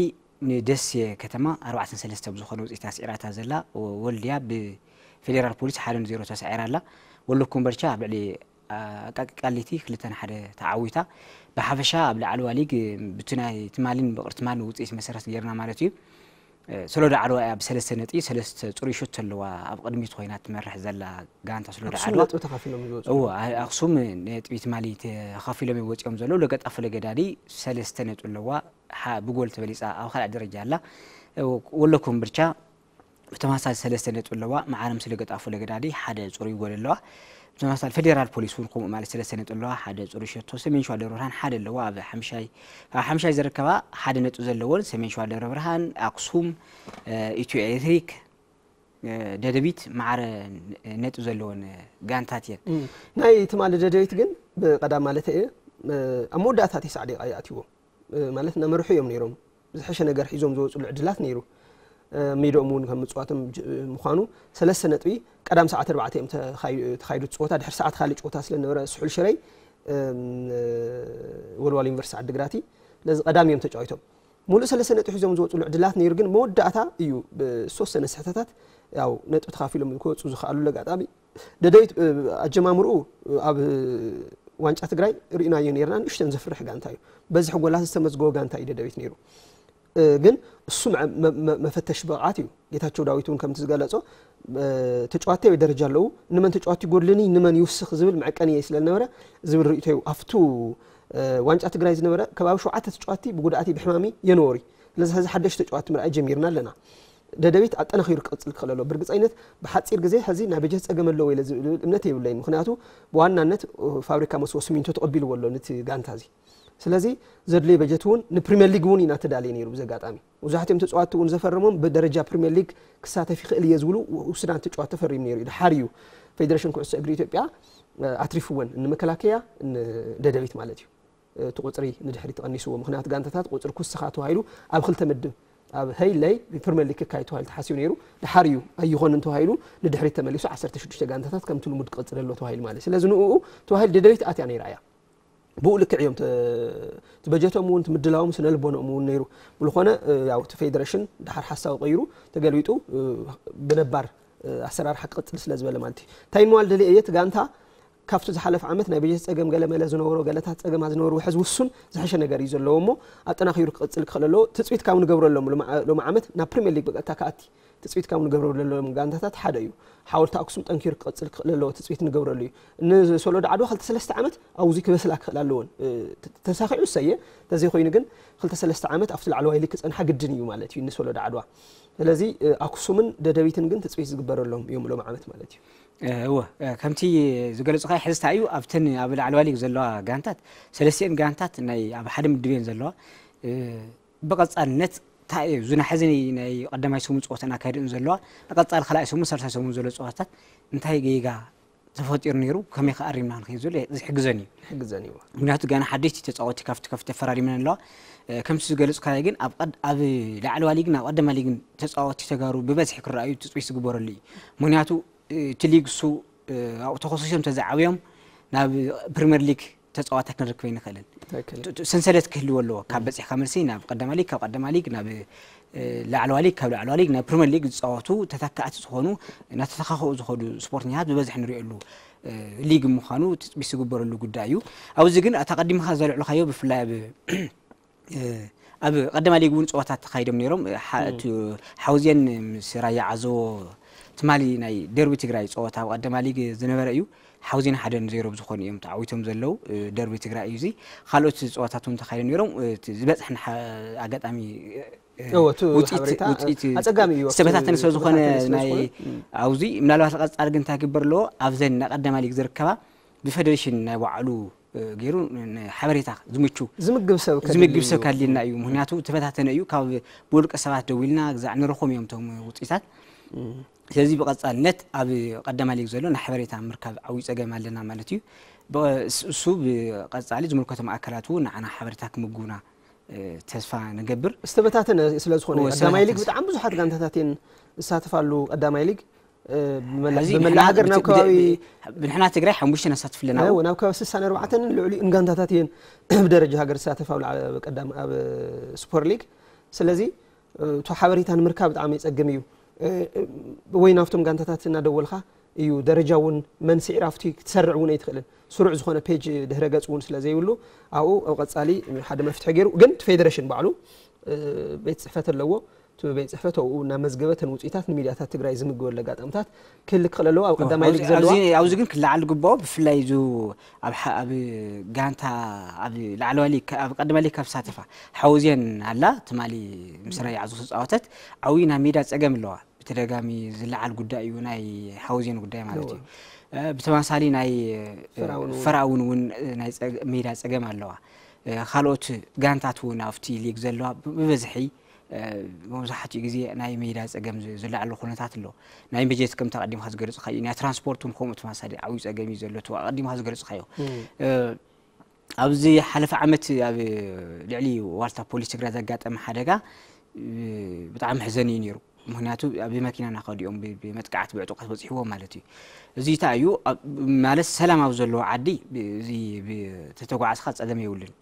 ንደሴ ከተማ ኣርባዕተን ሰለስተ ብዝኾነ ውፅኢት ኣስዒራታ ዘላ። ወልድያ ብፌዴራል ፖሊስ ሓደ ንዜሮ ተሳዒራ ኣላ። ወሎ ኮምበልቻ ኣብ ልዕሊ ኣቃቂ ቃሊቲ ክልተ ንሓደ ተዓዊታ። ብሓፈሻ ኣብ ላዕለዋ ሊግ ብቲ ናይ ትማሊን ብቕሪ ትማሊን ውፅኢት መሰረት ጌርና ማለት እዩ። ሶሎዳ ዓድዋ እያ ብሰለስተ ነጥቢ ሰለስተ ፅሩይ ሹት ኣለዋ ኣብ ቅድሚት ኮይና ትመርሕ ዘላ ጋንታ ሶሎዳ ኣክሱም ዓድዋ። ነጥቢ ተኻፊሎም ዝወፁ። እዎ ኣ- ኣክሱም ነጥቢ ትማሊ ተኻፊሎም ይወፂኦም ዘለዉ። ለገጣፎ ለገዳዲ ሰለስተ ነጥቢ ኣለዋ። ሓ- ብጎል ተበሊፃ ኣብ ካልኣይ ደረጃ ኣላ። ወሎ ኮምብልቻ ብተመሳሳሊ ሰለስተ ነጥቢ ኣለዋ። ማዕረ ምስ ለገጣፎ ለገዳዲ ሓደ ፅሩይ ጎል ኣለዋ። ብተመሳሳሊ ፌዴራል ፖሊስ እውን ከምኡ ማለት ሰለስተ ነጥቢ ኣለዋ፣ ሓደ ፅሩይ ሸቶ። ሰሜን ሸዋ ደብረ ብርሃን ሓደ ኣለዋ። ኣብ ሓምሻይ ኣብ ሓምሻይ ዝርከባ ሓደ ነጥቢ ዘለዎን ሰሜን ሸዋ ደብረ ብርሃን፣ ኣክሱም፣ ኢትዮ ኤሌክትሪክ፣ ደደቢት ማዕረ ነጥቢ ዘለዎን ጋንታት እየን። ናይ ትማሊ ደደቢት ግን ብቐዳም ማለት እየ ኣብ መወዳእታ ተስዓ ደቂቃ ይኣትዎ ማለት እናመርሑ እዮም ነይሮም። ዝሐሸ ነገር ሒዞም ዝወፅሉ ዕድላት ነይሩ። ሜድኦም እውን ከም ምፅዋቶም ጅ- ምዃኑ ሰለስተ ነጥቢ ቀዳም ሰዓት ኣርባዕተ እዮም ተኻይ- ተኻይዱ እቲ ፀወታ። ድሕሪ ሰዓት ካልእ ጨወታ ስለ ነበረ ስሑል ሽረይ እም፣ ወልዋል ዩኒቨርሲቲ ዓዲግራቲ ነዚ ቀዳም እዮም ተጫዊቶም። ሙሉእ ሰለስተ ነጥቢ ሒዞም ዝወፅሉ ዕድላት ነይሩ፣ ግን መወዳእታ እዩ ብዝተወሰነ ስሕተታት ያው ነጥቢ ተኻፊሎም ክወፁ ዝኽኣሉሉ ኣጋጣሚ። ደደቢት ኣጀማምርኡ ኣብ ዋንጫ ትግራይ ርኢናዮ ነርና። ንእሽተን ዘፍርሕ ጋንታ እዩ። በዝሒ ጎላት ዝተመዝገቦ ጋንታ እዩ ደደቢት ነይሩ። ግን እሱ መፈተሽ ብቕዓት እዩ። ጌታቸው ዳዊት እውን ከምቲ ዝገለጾ ተጫዋቲ ኣበይ ደረጃ ኣለዉ፣ ንመን ተጫዋቲ ይጎድልኒ፣ ንመን ይውስኽ ዝብል መዐቀኒ እየ ስለ ዝነበረ ዝብል ርእይቶ እዩ። ኣብቱ ዋንጫ ትግራይ ዝነበረ ከባቢ ሸውዓተ ተጫዋቲ ብጉድኣት ብሕማሚ የንወሩ። ስለዚ ሕዚ ሓደሽ ተጫዋቲ ምርኣይ ጀሚርና ኣለና። ደደቢት ኣጠናኺሩ ክቕፅል ክኽእል ኣለዎ። ብርግፀይነት ብሓፂር ግዜ ሕዚ ናይ በጀት ፀገም ኣለዎ ኢለ ዝብል እምነት የብለይን። ምክንያቱ ብዋናነት ፋብሪካ መስቦ ስሚንቶ ተቐቢልዎ ኣሎ ነቲ ጋንታ እዚ። ስለዚ ዘድልዮ በጀት እውን ንፕሪምየር ሊግ እውን ኢና ተዳልየ ነይሩ። ብዚ ኣጋጣሚ መብዛሕትኦም ተፃዋቲ እውን ዘፈረሞም ብደረጃ ፕሪምየር ሊግ ክሳተፍ ይኽእል እየ ዝብሉ ውሱናት ተጫዋቲ ተፈሪሙ ነይሩ እዩ። ድሓር እዩ ፌዴሬሽን ኩዕሶ እግሪ ኢትዮጵያ ኣትሪፍወን፣ ንመከላከያ ንደደቢት ማለት እዩ። እቲ ቁፅሪ ንድሕሪት ተቐኒስዎ። ምኽንያቱ ጋንታታት ቁፅሪ ክውስኻ ተባሂሉ ኣብ ክልተ ምድብ ኣብ ሀይለይ ብፕሪምየር ሊግ ክካየድ ተባሂሉ ተሓሲቡ ነይሩ። ድሓር እዩ ኣይኾንን ተባሂሉ ንድሕሪት ተመሊሱ ዓሰርተ ሽዱሽተ ጋንታታት ከምቲ ልሙድ ክቕፅል ኣሎ ተባሂሉ ማለት እዩ። ስለዚ ንኡ ተባሂሉ ደደቢት ኣትያ ነይራ እያ። ብኡ ልክዕ እዮም ተ- እቲ በጀቶም እውን እቲ ምድላዎም ስነ ልቦንኦም እውን ነይሩ። ብዝኾነ ያው እቲ ፌደሬሽን ድሓር ሓሳቡ ቀይሩ ተገልቢጡ ብነባር ኣሰራርሓ ክቕፅል ስለ ዝበለ ማለት እዩ። እንታይ ንምባል ደልየ እየ፣ እቲ ጋንታ ካብቲ ዝሓለፈ ዓመት ናይ በጀት ፀገም ገለመለ ዝነበሮ ገለታት ፀገማት ዝነበሩ ሕዚ ውሱን ዝሐሸ ነገር እዩ ዘለዎ እሞ ኣጠናኺሩ ክቕፅል ክኽእል ኣለዎ። ትፅቢት ካብ ንገብረሎም ሎሚ ዓመት ናብ ፕሪምየር ሊግ ብቀጥታ ክኣቲ ትፅቢት ካብ ንገብረሎም ጋንታታት ሓደ እዩ። ሓወልቲ ኣክሱም ጠንኪሩ ክቐፅል ክኽእል ኣለዎ፣ ትፅቢት ንገብረሉ እዩ። ንሶሎዳ ዓድዋ ክልተ ሰለስተ ዓመት ኣብዚ ክበስላ ክኽእል ኣለዎን። ተሳኺዑ እሰየ፣ ተዘይኮይኑ ግን ክልተ ሰለስተ ዓመት ኣብቲ ላዕለዋይ ሊግ ክፀንሓ ግድን እዩ ማለት እዩ ንሶሎዳ ዓድዋ። ስለዚ ኣክሱምን ደደቢትን ግን ትፅቢት ዝግበረሎም እዮም ሎም ዓመት ማለት እዩ። እወ ከምቲ ዝገለፅካ ሕዝታ እዩ ኣብተን ኣብ ላዕለዋ ሊግ ዘለዋ ጋንታት ሰለስቲኤን ጋንታት ናይ ኣብ ሓደ ምድብ እየን ዘለዋ። ብቐፃልነት እንታይ እዩ ዝናሕዚ ናይ ቀዳማይ ሰሙን ፀወታ እናካየደ ዘለዋ ንቐፃሊ ካልኣይ ሰሙን ሳልሳይ ሰሙን ዘሎ ፀወታታት እንታይ ጌጋ ተፈጢሩ ነይሩ፣ ከመይ ከ ኣሪምና ክንከይድ ዘሎ ዝሕግዘን እዩ። ይሕግዘን እዩ። ምክንያቱ ገና ሓደሽቲ ተፃወቲ ካብቲ ከፍቲ ተፈራሪመን ኣለዋ። ከምቲ ዝገለፅካዮ ግን ኣብ ላዕለዋ ሊግን ኣብ ቀደማ ሊግን ተፃወቲ ተጋሩ ብበዝሒ ክረኣዩ ትፅቢት ዝግበረሉ እዩ። ምክንያቱ እቲ ሊግ እሱ ኣብኡ ተኸሲሶም ተዘዓብዮም ናብ ፕሪምየር ሊግ ተፃዋታይ ክንረክብ ኣይንኽእልን። ሰንሰለት ክህልዎ ኣለዎ። ካብ በፂሕካ መልሲ ናብ ቀዳማ ሊግ፣ ካብ ቀዳማ ሊግ ናብ ላዕለዋ ሊግ፣ ካብ ላዕለዋ ሊግ ናብ ፕሪምየር ሊግ ዝፃወቱ ተተካእቲ ዝኾኑ እናተተኻኸኡ ዝኸዱ ስፖርተኛታት ብበዝሒ ንሪእሉ ሊግ ምዃኑ ትፅቢት ዝግበረሉ ጉዳይ እዩ። ኣብዚ ግን ኣታ ቀዲምካ ዘልዕልካዮ ብፍላይ ኣብ ኣብ ቀዳማ ሊግ እውን ፀዋታት ተኻይዶም ነይሮም። ሓውዜን ምስ ራያ ዓዘቦ ትማሊ ናይ ደርቢ ትግራይ ፀወታ ኣብ ቀዳማ ሊግ ዝነበረ እዩ። ሓውዜን ሓደ ንዜሮ ብዝኾኑ እዮም ተዓዊቶም ዘለዉ። ደርቢ ትግራይ እዩ እዚ። ካልኦት ፀዋታት እውን ተኻይዶም ነይሮም። ዝበፅሐና ኣጋጣሚ ኣጸጋሚ እዩ። ዝተበታተነ ስለ ዝኾነ ናይ ኣብዚ ምናልባት ቀፃሊ ግን እንታይ ክግበር ኣለዎ ኣብዘን ናይ ቀዳማ ሊግ ዝርከባ ብፌደሬሽን ናይ ባዕሉ ገይሩ ሓበሬታ ዝምቹ ዝምግብ ሰብ ዝምግብ ሰብ ካሊልና እዩ። ምክንያቱ ተፈታተነ እዩ። ካብ ብውልቀ ሰባት ደዊልና ግዛዕ ንረኽቦም እዮም እቶም ውፅኢታት። ስለዚ ብቐፃልነት ኣብ ቀዳማ ሊግ ዘሎ ናይ ሓበሬታ ምርካብ ዓብዩ ፀገም ኣለና ማለት እዩ። እሱ ብቐፃሊ ዝምልከቶም ኣካላት እውን ንዓና ሓበሬታ ክምጉና ተስፋ ንገብር። ዝተበታተነ ስለ ዝኾነ ቀዳማይ ሊግ ብጣዕሚ ብዙሓት ጋንታታት እየን ዝሳተፋሉ ቀዳማይ ሊግ ብመላ ሃገር ናብ ከባቢ ብንሕና ትግራይ ሓሙሽተ ነሳትፍ ኣለና። ናብ ከባቢ ስሳን ኣርባዕተን ልዕሊ እንጋንታታት እየን ብደረጃ ሃገር ዝሳተፍ ኣብ ቀዳም ኣብ ስፖር ሊግ። ስለዚ እቲ ሓበሬታ ንምርካብ ብጣዕሚ የፀግም እዩ። ወይ ናብቶም ጋንታታት እናደወልካ እዩ ደረጃ እውን መን ስዒር ኣብቲ ክትሰርዕ እውን ኣይትኽእልን። ስሩዕ ዝኾነ ፔጅ ድህረ ገፅ እውን ስለ ዘይብሉ ኣብኡ ኣብ ቀፃሊ ሓደ መፍትሒ ገይሩ ግን እቲ ፌደሬሽን ባዕሉ ቤት ፅሕፈት ኣለዎ። እቲ ቤት ፅሕፈት ኣብኡ እናመዝገበ እተን ውፅኢታት ንሚድያታት ትግራይ ዝምግበሉ ኣጋጣምታት ክህልክ ክእል ኣለዎ። ኣብ ቀዳማይ ሊግ ዘለዋ ኣብዚ ግን ክለዓል ዝግብኦ ብፍላይ እዚ ኣብ ኣብ ጋንታ ኣብ ላዕለዋይ ሊግ ኣብ ቀዳማይ ሊግ ካብ ዝሳተፋ ሓውዜን ኣላ ትማሊ ምስ ራያ ዓዘቦ ዝተፃወተት ዓብዪ ናይ ሜዳ ፀገም ኣለዋ። ብተደጋሚ ዝለዓል ጉዳይ እዩ ናይ ሓውዜን ጉዳይ ማለት እዩ። ብተመሳሳሊ ናይ ፈራውን እውን ናይ ሜዳ ፀገም ኣለዋ። ካልኦት ጋንታት እውን ኣብቲ ሊግ ዘለዋ ብበዝሒ መብዛሕትኡ ግዜ ናይ ሜዳ ፀገም ዝለዓሉ ኩነታት ኣሎ። ናይ በጀት ከምቲ ኣቐዲምካ ዝገለፅካዮ ናይ ትራንስፖርት እውን ከምኡ ተመሳሳሊ ዓብዩ ፀገም እዩ ዘሎ እቲ ኣቐዲምካ ዝገለፅካዮ። ኣብዚ ሓለፈ ዓመት ኣብ ልዕሊ ዋልታ ፖሊስ ትግራይ ዘጋጠመ ሓደጋ ብጣዕሚ መሕዘኒ እዩ ነይሩ። ምክንያቱ ብመኪና እናኸዱ እዮም ብመጥቃዕቲ ብዕጡቃት በፂሕዎም ማለት እዩ። እዚ እንታይ እዩ ማለት ሰላም ኣብ ዘለዎ ዓዲ ተተጓዓዝካ ፀገም የብሉን።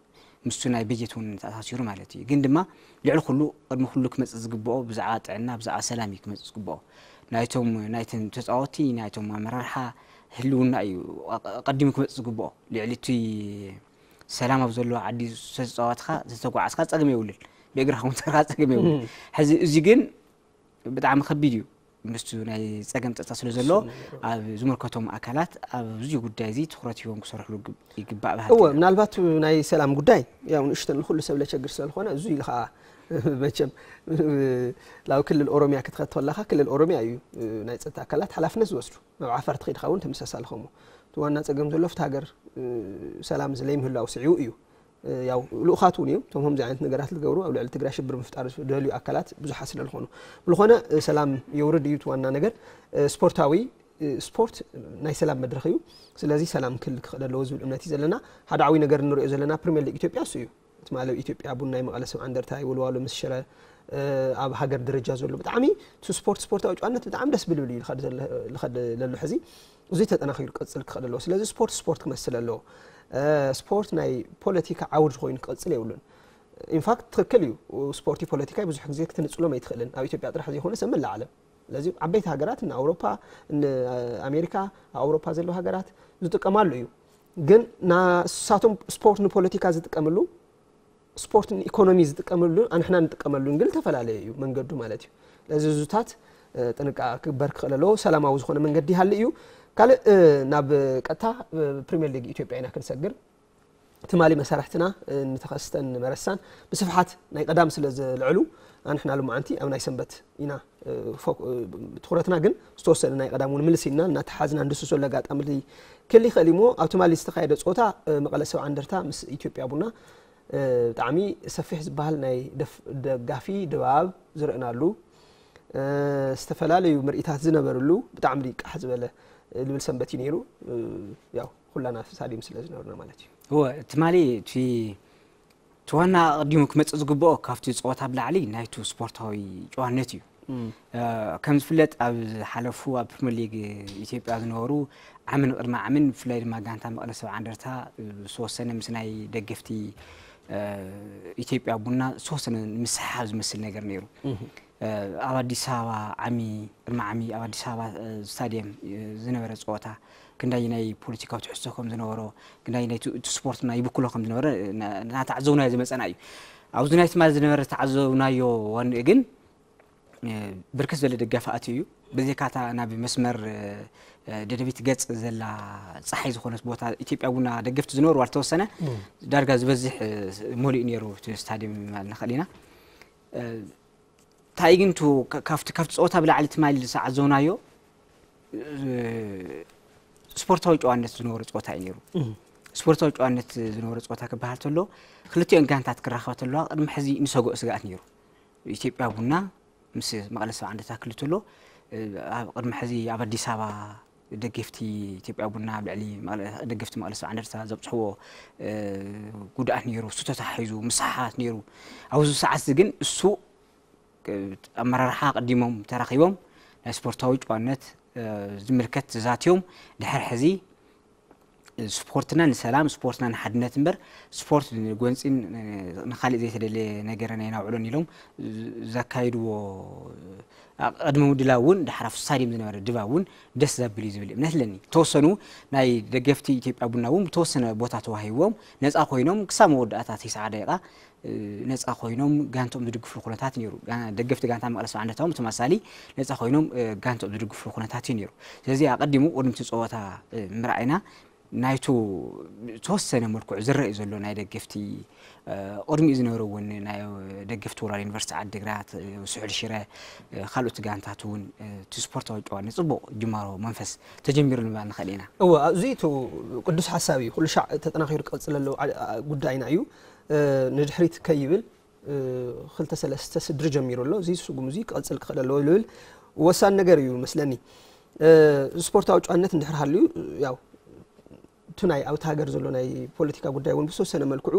ምስቱ ናይ በጀት እውን ተኣሳሲሩ ማለት እዩ። ግን ድማ ልዕሊ ኩሉ ቅድሚ ኩሉ ክመፅእ ዝግብኦ ብዛዕባ ጥዕና ብዛዕባ ሰላም እዩ ክመፅእ ዝግብኦ። ናይቶም ናይተን ተፃወቲ ናይቶም ኣመራርሓ ህልውና እዩ ቀዲሙ ክመፅእ ዝግብኦ። ልዕሊ እቲ ሰላም ኣብ ዘለዎ ዓዲ ዝተፃወትካ ዝተጓዓዝካ ፀገም የብሉን። ብእግርኻ እውን ተርካ ፀገም የብሉን። ሕዚ እዚ ግን ብጣዕሚ ከቢድ እዩ። ምስቱ ናይ ፀገም ፀጥታ ስለ ዘሎ ኣብ ዝምልከቶም ኣካላት ኣብዚ ጉዳይ እዚ ትኩረት ሂቦም ክሰርሕሉ ይግባእ ባህል እወ ምናልባት ናይ ሰላም ጉዳይ ያው ንእሽተን ንኩሉ ሰብ ለቸግር ስለዝኮነ እዚ ኢሉ ከዓ መቸም ናብ ክልል ኦሮሚያ ክትኸድ ከለካ ክልል ኦሮሚያ እዩ ናይ ፀጥታ ኣካላት ሓላፍነት ዝወስዱ ናብ ዓፋር ትኸይድ ኸውን ተመሳሳሊ ከሞ እቲ ዋና ፀገም ዘሎ ፍቲ ሃገር ሰላም ዝለይምህላው ስዒቡ እዩ ያው ልኡኻት እውን እዮም እቶም ከምዚ ዓይነት ነገራት ዝገብሩ ኣብ ልዕሊ ትግራይ ሽብር ምፍጣር ዝደልዩ ኣካላት ብዙሓት ስለ ዝኾኑ ብዝኾነ ሰላም የውርድ እዩ እቲ ዋና ነገር ስፖርታዊ ስፖርት ናይ ሰላም መድረኽ እዩ ስለዚ ሰላም ክህል ክኽእል ኣለዎ ዝብል እምነት እዩ ዘለና ሓደ ዓብይ ነገር ንሪኦ ዘለና ፕሪሚየር ሊግ ኢትዮጵያ እሱ እዩ እቲ ማለት ኢትዮጵያ ቡና መቐለ ሰብዓ እንደርታ ወልዋሎ ምስ ሽረ ኣብ ሃገር ደረጃ ዘሎ ብጣዕሚ እቲ ስፖርት ስፖርታዊ ጨዋነት ብጣዕሚ ደስ ብልብል እዩ ልኸድ ለሎ ሕዚ እዙይ ተጠናኺሩ ክቕፅል ክኽእል ኣለዎ ስለዚ ስፖርት ስፖርት ክመስል ኣለዎ ስፖርት ናይ ፖለቲካ ዓውድ ኮይኑ ክቕፅል የብሉን ኢንፋክት ትኽክል እዩ ስፖርቲ ፖለቲካ ብዙሕ ግዜ ክትንፅሎም ኣይትኽእልን ኣብ ኢትዮጵያ ጥራሕ ዘይኮነ ሰብ መላ ዓለም ስለዚ ዓበይቲ ሃገራት ን ኣውሮፓ ን ኣሜሪካ ኣብ ኣውሮፓ ዘለዉ ሃገራት ዝጥቀማሉ እዩ ግን ንሳቶም ስፖርት ንፖለቲካ ዝጥቀምሉ ስፖርት ንኢኮኖሚ ዝጥቀመሉን ኣንሕና ንጥቀመሉን ግን ዝተፈላለየ እዩ መንገዱ ማለት እዩ። ስለዚ እዙታት ጥንቃ ክግበር ክኽእል ኣለዎ። ሰላማዊ ዝኾነ መንገዲ ይሃሊ እዩ። ካልእ ናብ ቀጥታ ፕሪሚየር ሊግ ኢትዮጵያ ኢና ክንሰግር። ትማሊ መሳርሕትና ንተኸስተን መረሳን ብስፍሓት ናይ ቀዳም ስለ ዘልዕሉ ኣንሕና ሎማዓንቲ ኣብ ናይ ሰንበት ኢና ትኹረትና ግን ዝተወሰነ ናይ ቀዳም እውን ምልስ ኢልና እናተሓዝና ንድሱ ዘሎ ኣጋጣሚ ክል ይኽእል እሞ ኣብ ትማሊ ዝተኻየደ ፀወታ መቐለ ሰብዓ እንደርታ ምስ ኢትዮጵያ ቡና ብጣዕሚ ሰፊሕ ዝበሃል ናይ ደጋፊ ድባብ ዝረእናሉ ዝተፈላለዩ ምርኢታት ዝነበርሉ ብጣዕሚ ቃሕ ዝበለ ልብል ሰንበት እዩ ነይሩ። ያው ኩላና ስታድየም ስለ ዝነበርና ማለት እዩ። እወ ትማሊ እቲ እቲ ዋና ኣቐዲሙ ክመፅእ ዝግብኦ ካብቲ ፀወታ ብላዕሊ ናይቱ ስፖርታዊ ጨዋነት እዩ። ከም ዝፍለጥ ኣብ ዝሓለፉ ኣብ ፕሪምየር ሊግ ኢትዮጵያ ዝነበሩ ዓምን ቅድሚ ዓምን ብፍላይ ድማ ጋንታ መቐለ ሰብዓ እንደርታ ዝተወሰነ ምስ ናይ ደገፍቲ ኢትዮጵያ ቡና ዝተወሰነ ምስሕሓብ ዝመስል ነገር ነይሩ። ኣብ ኣዲስ ኣበባ ዓሚ ቅድሚ ዓሚ ኣብ ኣዲስ ኣበባ ስታድየም ዝነበረ ፀወታ ክንዳይ ናይ ፖለቲካዊ ትሕዝቶ ከም ዝነበሮ ክንዳይ ናይ እቲ ስፖርትና ይብክሎ ከም ዝነበረ እናተዓዘብናዮ ዝመፀና እዩ። ኣብዚ ናይ ትማሊ ዝነበረ ዝተዓዘብናዮ ዋንኡ ግን ብርክት ዝበለ ደጋፊ ኣትዩ እዩ። ብዘይካታ ናብ መስመር ደደቢት ገፅ ዘላ ፀሓይ ዝኾነት ቦታ ኢትዮጵያ ቡና ደገፍቲ ዝነበሩ ዝተወሰነ ዳርጋ ዝበዝሕ መሊኡ ነይሩ እቲ ስታድየም ማለት ንኽእል ኢና። እንታይ ግን ካብቲ ካብቲ ፀወታ ብላዕሊ ትማሊ ዝዓዘብናዮ ስፖርታዊ ጨዋነት ዝነበሮ ፀወታ እዩ ነይሩ። ስፖርታዊ ጨዋነት ዝነበሮ ፀወታ ክበሃል ተሎ ክልቲኦን ጋንታት ክራኸባ ተለዋ ቅድሚ ሕዚ ንሰግኦ ስግኣት ነይሩ። ኢትዮጵያ ቡና ምስ መቐለ ሰብዓ እንደርታ ክልተሎ ኣብ ቅድሚ ሕዚ ኣብ ኣዲስ ኣበባ ደገፍቲ ኢትዮጵያ ቡና ኣብ ልዕሊ ደገፍቲ መቐለ ሰብዓ እንደርታ ዘብፅሕዎ ጉድኣት ነይሩ፣ እሱ ተታሒዙ ምስሓሓት ነይሩ። ኣብዚ ሰዓት ግን እሱ ኣመራርሓ ኣቐዲሞም ተራኺቦም ናይ ስፖርታዊ ጨዋነት ዝምልከት ተዛትዮም ድሕር ሕዚ ስፖርትና ንሰላም ስፖርትና ንሓድነት እምበር ስፖርት ንጎንፂን ንካሊእ ዘይተደለየ ነገርን ኣይናውዕሎን ኢሎም ዘካይድዎ ቅድሚ ምድላው እውን ድሓር ኣብ ስታድየም ዝነበረ ድባብ እውን ደስ ዘብል እዩ ዝብል እምነት ኣለኒ። ተወሰኑ ናይ ደገፍቲ ኢትዮጵያ ቡና እውን ብተወሰነ ቦታ ተዋሂዎም ነፃ ኮይኖም ክሳብ መወዳእታ ተስዓ ደቂቃ ነፃ ኮይኖም ጋንቶም ዝድግፍሉ ኩነታት ነይሩ። ደገፍቲ ጋንታ መቐለ ሰብዓ እንደርታ እውን ብተመሳሳሊ ነፃ ኮይኖም ጋንቶም ዝድግፍሉ ኩነታት እዩ ነይሩ። ስለዚ ኣቐዲሙ ቅድሚ እቲ ፀወታ ምርኣይና ናይቱ ተወሰነ መልክዑ ዝረአ ዘሎ ናይ ደገፍቲ ቅድሚኡ ዝነበረ እውን ናይ ደገፍቲ ወራር ዩኒቨርሲቲ ዓዲግራት ስሑል ሽረ ካልኦት ጋንታት እውን እቲ ስፖርታዊ ጨዋነት ፅቡቕ ጅማሮ መንፈስ ተጀሚሩ ንባል ንኽእል ኢና። እወ እዚ እቲ ቅዱስ ሓሳብ እዩ። ኩሉ ሻዕ ተጠናኺሩ ክቐፅል ኣለዎ ጉዳይና እዩ። ንድሕሪት ከይብል ክልተ ሰለስተ ስድሪ ጀሚሩ ኣሎ። እዚ ስጉም እዚ ክቐፅል ክኽእል ኣለዎ ዝብል ወሳኒ ነገር እዩ መስለኒ። ስፖርታዊ ጨዋነት እንድሕር ሃልዩ ያው እቲ ናይ ኣብቲ ሃገር ዘሎ ናይ ፖለቲካ ጉዳይ እውን ብዝተወሰነ መልክዑ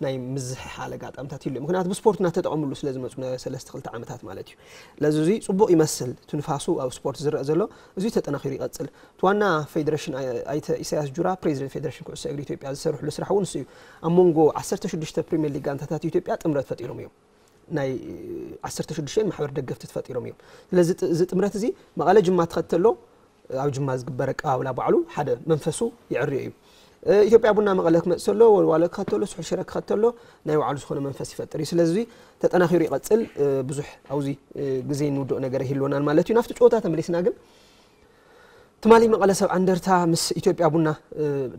ናይ ምዝሕሓል ኣጋጣምታት ይህሉ። ምክንያቱ ብስፖርት እናተጠቐምሉ ስለ ዝመፁ ናይ ሰለስተ ክልተ ዓመታት ማለት እዩ። ለዚ እዚ ፅቡቕ ይመስል እቲ ንፋሱ ኣብ ስፖርት ዝረአ ዘሎ እዚ ተጠናኺሩ ይቐፅል። እቲ ዋና ፌዴሬሽን ኣይተ ኢሳያስ ጁራ ፕሬዚደንት ፌዴሬሽን ኩዕሶ እግሪ ኢትዮጵያ ዝሰርሕሉ ስራሕ እውን ንሱ እዩ። ኣብ መንጎ ዓሰርተ ሽዱሽተ ፕሪምየር ሊግ ጋንታታት ኢትዮጵያ ጥምረት ፈጢሮም እዮም። ናይ ዓሰርተ ሽዱሽተ ማሕበር ደገፍቲ ተፈጢሮም እዮም። ስለዚ እዚ ጥምረት እዚ መቐለ ጅማ ትኸተሎ ኣብ ጅማ ዝግበር ኣቀባብላ ባዕሉ ሓደ መንፈሱ ይዕርዮ እዩ። ኢትዮጵያ ቡና መቐለ ክመፅእ ተሎ ወልዋሎ ክኸተሎ ስሑል ሽረ ክኸተሎ ናይ ባዕሉ ዝኾነ መንፈስ ይፈጥር እዩ። ስለዚ ተጠናኺሩ ይቐፅል። ብዙሕ ኣብዚ ግዜ ንውድኦ ነገር ይህልወናን ማለት እዩ። ናብቲ ጨወታ ተመሊስና ግን ትማሊ መቐለ ሰብ ዓንደርታ ምስ ኢትዮጵያ ቡና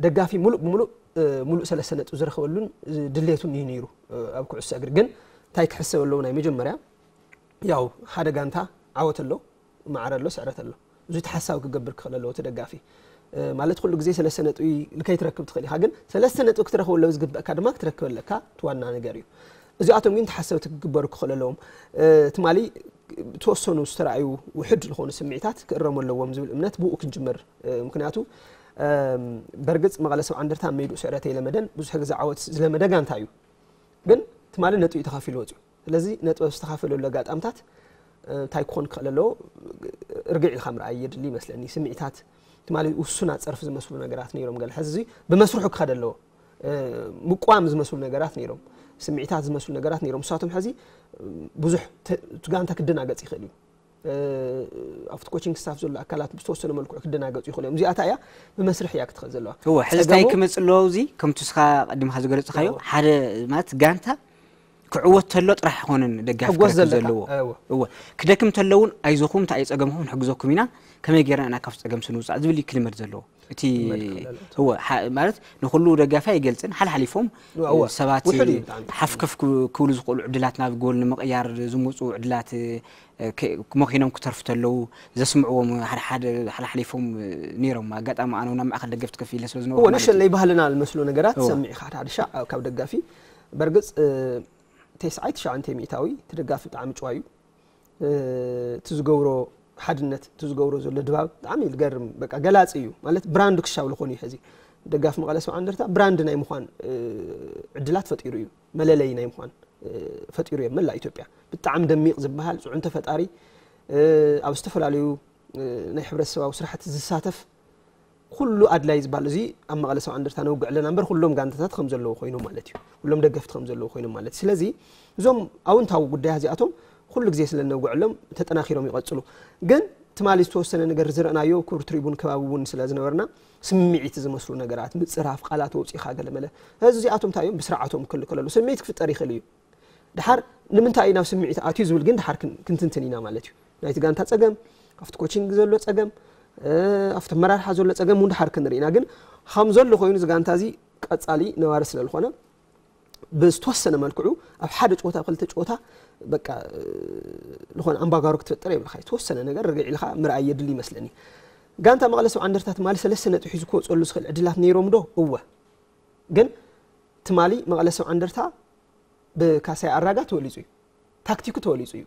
ደጋፊ ሙሉእ ብሙሉእ ሙሉእ ሰለስተ ነጥቢ ዝረኸበሉን ድሌቱን እዩ ነይሩ። ኣብ ኩዕሶ እግሪ ግን እንታይ ክሕሰብ ኣለዎ? ናይ መጀመርያ ያው ሓደ ጋንታ ዓወት ኣሎ፣ ማዕረ ኣሎ፣ ስዕረት ኣሎ። እዚ ተሓሳቢ ክገብር ክኽእል ኣለዎ እቲ ደጋፊ። ማለት ኩሉ ግዜ ሰለስተ ነጥቢ ከይትረክብ ትኽእል ኢኻ፣ ግን ሰለስተ ነጥቢ ክትረኽበሉ ዝግበእካ ድማ ክትረክብ ኣለካ። እቲ ዋና ነገር እዩ። እዚኣቶም ግን ተሓሰብቲ ክግበሩ ክኽእል ኣለዎም። ትማሊ ዝተወሰኑ ዝተረኣዩ ውሕድ ዝኾኑ ስምዒታት ክእረሙ ኣለዎም ዝብል እምነት ብኡ ክንጅምር። ምክንያቱ በርግፅ መቐለ ሰብ ዓንደርታ ኣብ መይድኡ ስዕረት ኣይለመደን፣ ብዙሕ ግዜ ዓወት ዝለመደ ጋንታ እዩ። ግን ትማሊ ነጥቢ ተኻፊሉ ወፅዩ። ስለዚ ነጥቢ ዝተኻፈለሉ ኣጋጣምታት እንታይ ክኾን ክኽእል ኣለዎ? ርግዕ ኢልካ ምርኣይ የድሊ ይመስለኒ። ስምዒታት ትማሊ ውሱናት ፀርፊ ዝመስሉ ነገራት ነይሮም። ገለ ሕዚ ብመስርሑ ክኸደ ኣለዎ። ምቋም ዝመስሉ ነገራት ነይሮም። ስምዒታት ዝመስሉ ነገራት ነይሮም። ንሳቶም ሕዚ ብዙሕ እቲ ጋንታ ክደናገፅ ይኽእል እዩ። ኣብቲ ኮቺንግ ስታፍ ዘሎ ኣካላት ብዝተወሰነ መልክዑ ክደናገፁ ይኽእሉ እዮም። እዚኣታ እያ ብመስርሕ እያ ክትኸድ ዘለዋ። እወ ሕዚ እንታይ ክመፅእ ኣለዎ? እዚ ከምቲ ስኻ ቀድምካ ዝገለፅካዮ ሓደ ማለት ጋንታ ክዕወት ተሎ ጥራሕ ኣይኮነን ደጋፊ ክረክብ ዘለዎ። እወ ክደክም ተሎ እውን ኣይዞኹም እንታይ ኣይፀገምኩም ንሕግዘኩም ኢና፣ ከመይ ጌርና ኢና ካብ ፀገም ስንውፃእ ዝብል እዩ ክልመድ ዘለዎ። እቲ እወ ማለት ንኩሉ ደጋፊ ኣይገልፅን፣ ሓልሓሊፎም ሰባት ሓፍከፍ ክብሉ ዝኽእሉ ዕድላት ናብ ጎል ንምቕያር ዝምፁ ዕድላት መኺኖም ክተርፉ ተለዉ ዘስምዕዎም ሓደ ሓደ ሓልሓሊፎም ነይሮም። ኣጋጣሚ ኣነ እውን ኣብ ማእኸል ደገፍቲ ከፍ ኢለ ስለ ዝነበርኩ እወ ማለት እዩ። ንሸለይ ባህልና ዝመስሉ ነገራት እወ። ሰሚዕኻ ሓደ ሓደ ሻዕ ካብ ደጋፊ በርግፅ ተስዓይ ትሽዓተ ሚእታዊ እቲ ደጋፊ ብጣዕሚ ጭዋ እዩ። እቲ ዝገብሮ ሓድነት እቲ ዝገብሮ ዘሎ ድባብ ብጣዕሚ ዝገርም፣ በቃ ገላፂ እዩ። ማለት ብራንድ ክሻብ ዝኾኑ እዩ። ሕዚ ደጋፊ መቐለ ሰብዓ እንደርታ ብራንድ ናይ ምዃን ዕድላት ፈጢሩ እዩ። መለለይ ናይ ምዃን ፈጢሩ እዮም። መላእ ኢትዮጵያ ብጣዕሚ ደሚቕ ዝበሃል ፅዕንቶ ፈጣሪ፣ ኣብ ዝተፈላለዩ ናይ ሕብረተሰባዊ ስራሕቲ ዝሳተፍ ኩሉ ኣድላይ ዝበሃል እዚ ኣብ መቐለ ሰብዓ እንደርታ ነውግዕ ኣለና እምበር ኩሎም ጋንታታት ከም ዘለዉ ኮይኖም ማለት እዩ። ኩሎም ደገፍቲ ከም ዘለዉ ኮይኖም ማለት እዩ። ስለዚ እዞም ኣውንታዊ ጉዳያት እዚኣቶም ኩሉ ግዜ ስለ ነውግዐሎም ተጠናኺሮም ይቐፅሉ። ግን ትማሊ ዝተወሰነ ነገር ዝረእናዮ ክቡር ትሪቡን ከባቢ እውን ስለ ዝነበርና ስምዒት ዝመስሉ ነገራት ምፅራፍ ቃላት ወፂኻ ገለመለ እዚ እዚኣቶም እንታይ እዮም ብስርዓቶም ክልከለሉ ስምዒት ክፍጠር ይኽእል እዩ። ድሓር ንምንታይ እዩ ናብ ስምዒት ኣትዩ ዝብል ግን ድሓር ክንትንትን ኢና ማለት እዩ። ናይቲ ጋንታ ፀገም፣ ኣብቲ ኮቺንግ ዘሎ ፀገም፣ ኣብቲ ኣመራርሓ ዘሎ ፀገም እውን ድሓር ክንርኢ ኢና። ግን ከም ዘሎ ኮይኑ እዚ ጋንታ እዚ ቀፃሊ ነባሪ ስለ ዝኾነ ብዝተወሰነ መልክዑ ኣብ ሓደ ጨወታ ኣብ ክልተ ጨወታ በቃ ዝኾነ ኣምባጋሮ ክትፈጥር የብልካ። ዝተወሰነ ነገር ርግዕ ኢልካ ምርኣይ የድሊ ይመስለኒ። ጋንታ መቐለ ሰብዓ እንደርታ ትማሊ ሰለስተ ነጥቢ ሒዙ ክወፀሉ ዝኽእል ዕድላት ነይሮም ዶ? እወ። ግን ትማሊ መቐለ ሰብዓ እንደርታ ብካሳይ ኣራጋ ተወሊፁ እዩ። ታክቲኩ ተወሊፁ እዩ።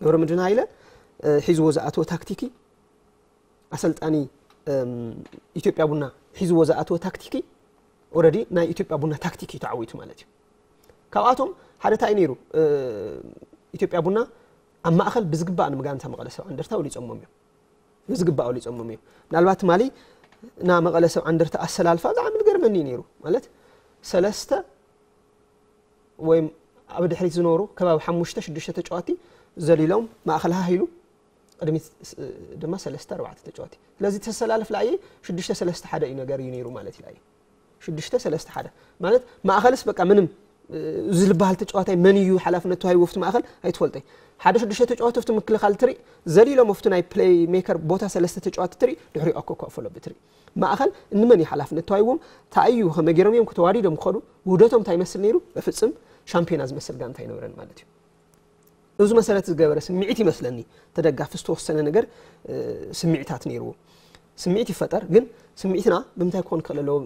ገብረ ምድን ሃይለ ሒዝዎ ዝኣተወ ታክቲኪ ኣሰልጣኒ ኢትዮጵያ ቡና ሒዝዎ ዝኣተወ ታክቲኪ ኦረዲ ናይ ኢትዮጵያ ቡና ታክቲክ እዩ ተዓዊቱ ማለት እዩ። ካብኣቶም ሓደ እንታይ ነይሩ? ኢትዮጵያ ቡና ኣብ ማእኸል ብዝግባእ ንምጋንታ መቐለ ሰብዓ እንደርታ ወሊፆሞም እዮም። ብዝግባእ ወሊፆሞም እዮም። ምናልባት ትማሊ ና መቐለ ሰብዓ እንደርታ ኣሰላልፋ ብጣዕሚ ዝገርመኒ እዩ ነይሩ። ማለት ሰለስተ ወይ ኣብ ድሕሪት ዝነበሩ ከባቢ ሓሙሽተ ሽዱሽተ ተጫዋቲ ዘሊሎም ማእኸል ሃህ ኢሉ ቅድሚት ድማ ሰለስተ ኣርባዕተ ተጫዋቲ ስለዚ ተሰላለፍ ለኣየ ሽዱሽተ ሰለስተ ሓደ እዩ ነገር እዩ ነይሩ ማለት እዩ ለኣየ ሽዱሽተ ሰለስተ ሓደ ማለት ማእኸልስ በቃ ምንም እዚ ዝበሃል ተጫዋታይ መን እዩ ሓላፍነት ተዋሂቡ ኣብቲ ማእኸል ኣይትፈልጠይ ሓደ ሽዱሽተ ተጫዋቲ ኣብቲ ምክልኻል ትርኢ ዘሊሎም ኣብቲ ናይ ፕሌይ ሜከር ቦታ ሰለስተ ተጫዋቲ ትርኢ ድሕሪኡ ኣኮኳ ፈሎ ብትርኢ ማእኸል እንመን እዩ ሓላፍነት ተዋሂዎም እንታይ እዩ ከመይ ገይሮም እዮም ተዋዲዶም ክኸዱ ውህደቶም እንታይ ይመስል ነይሩ በፍፅም ሻምፒዮና ዝመስል ጋንታ ኣይነበረን ማለት እዩ እዚ መሰረት ዝገበረ ስምዒት ይመስለኒ ተደጋፊ ዝተወሰነ ነገር ስምዒታት ነይርዎ ስምዒት ይፈጠር ግን ስምዒትና ብምንታይ ክኾን ክኽእል ኣለዎ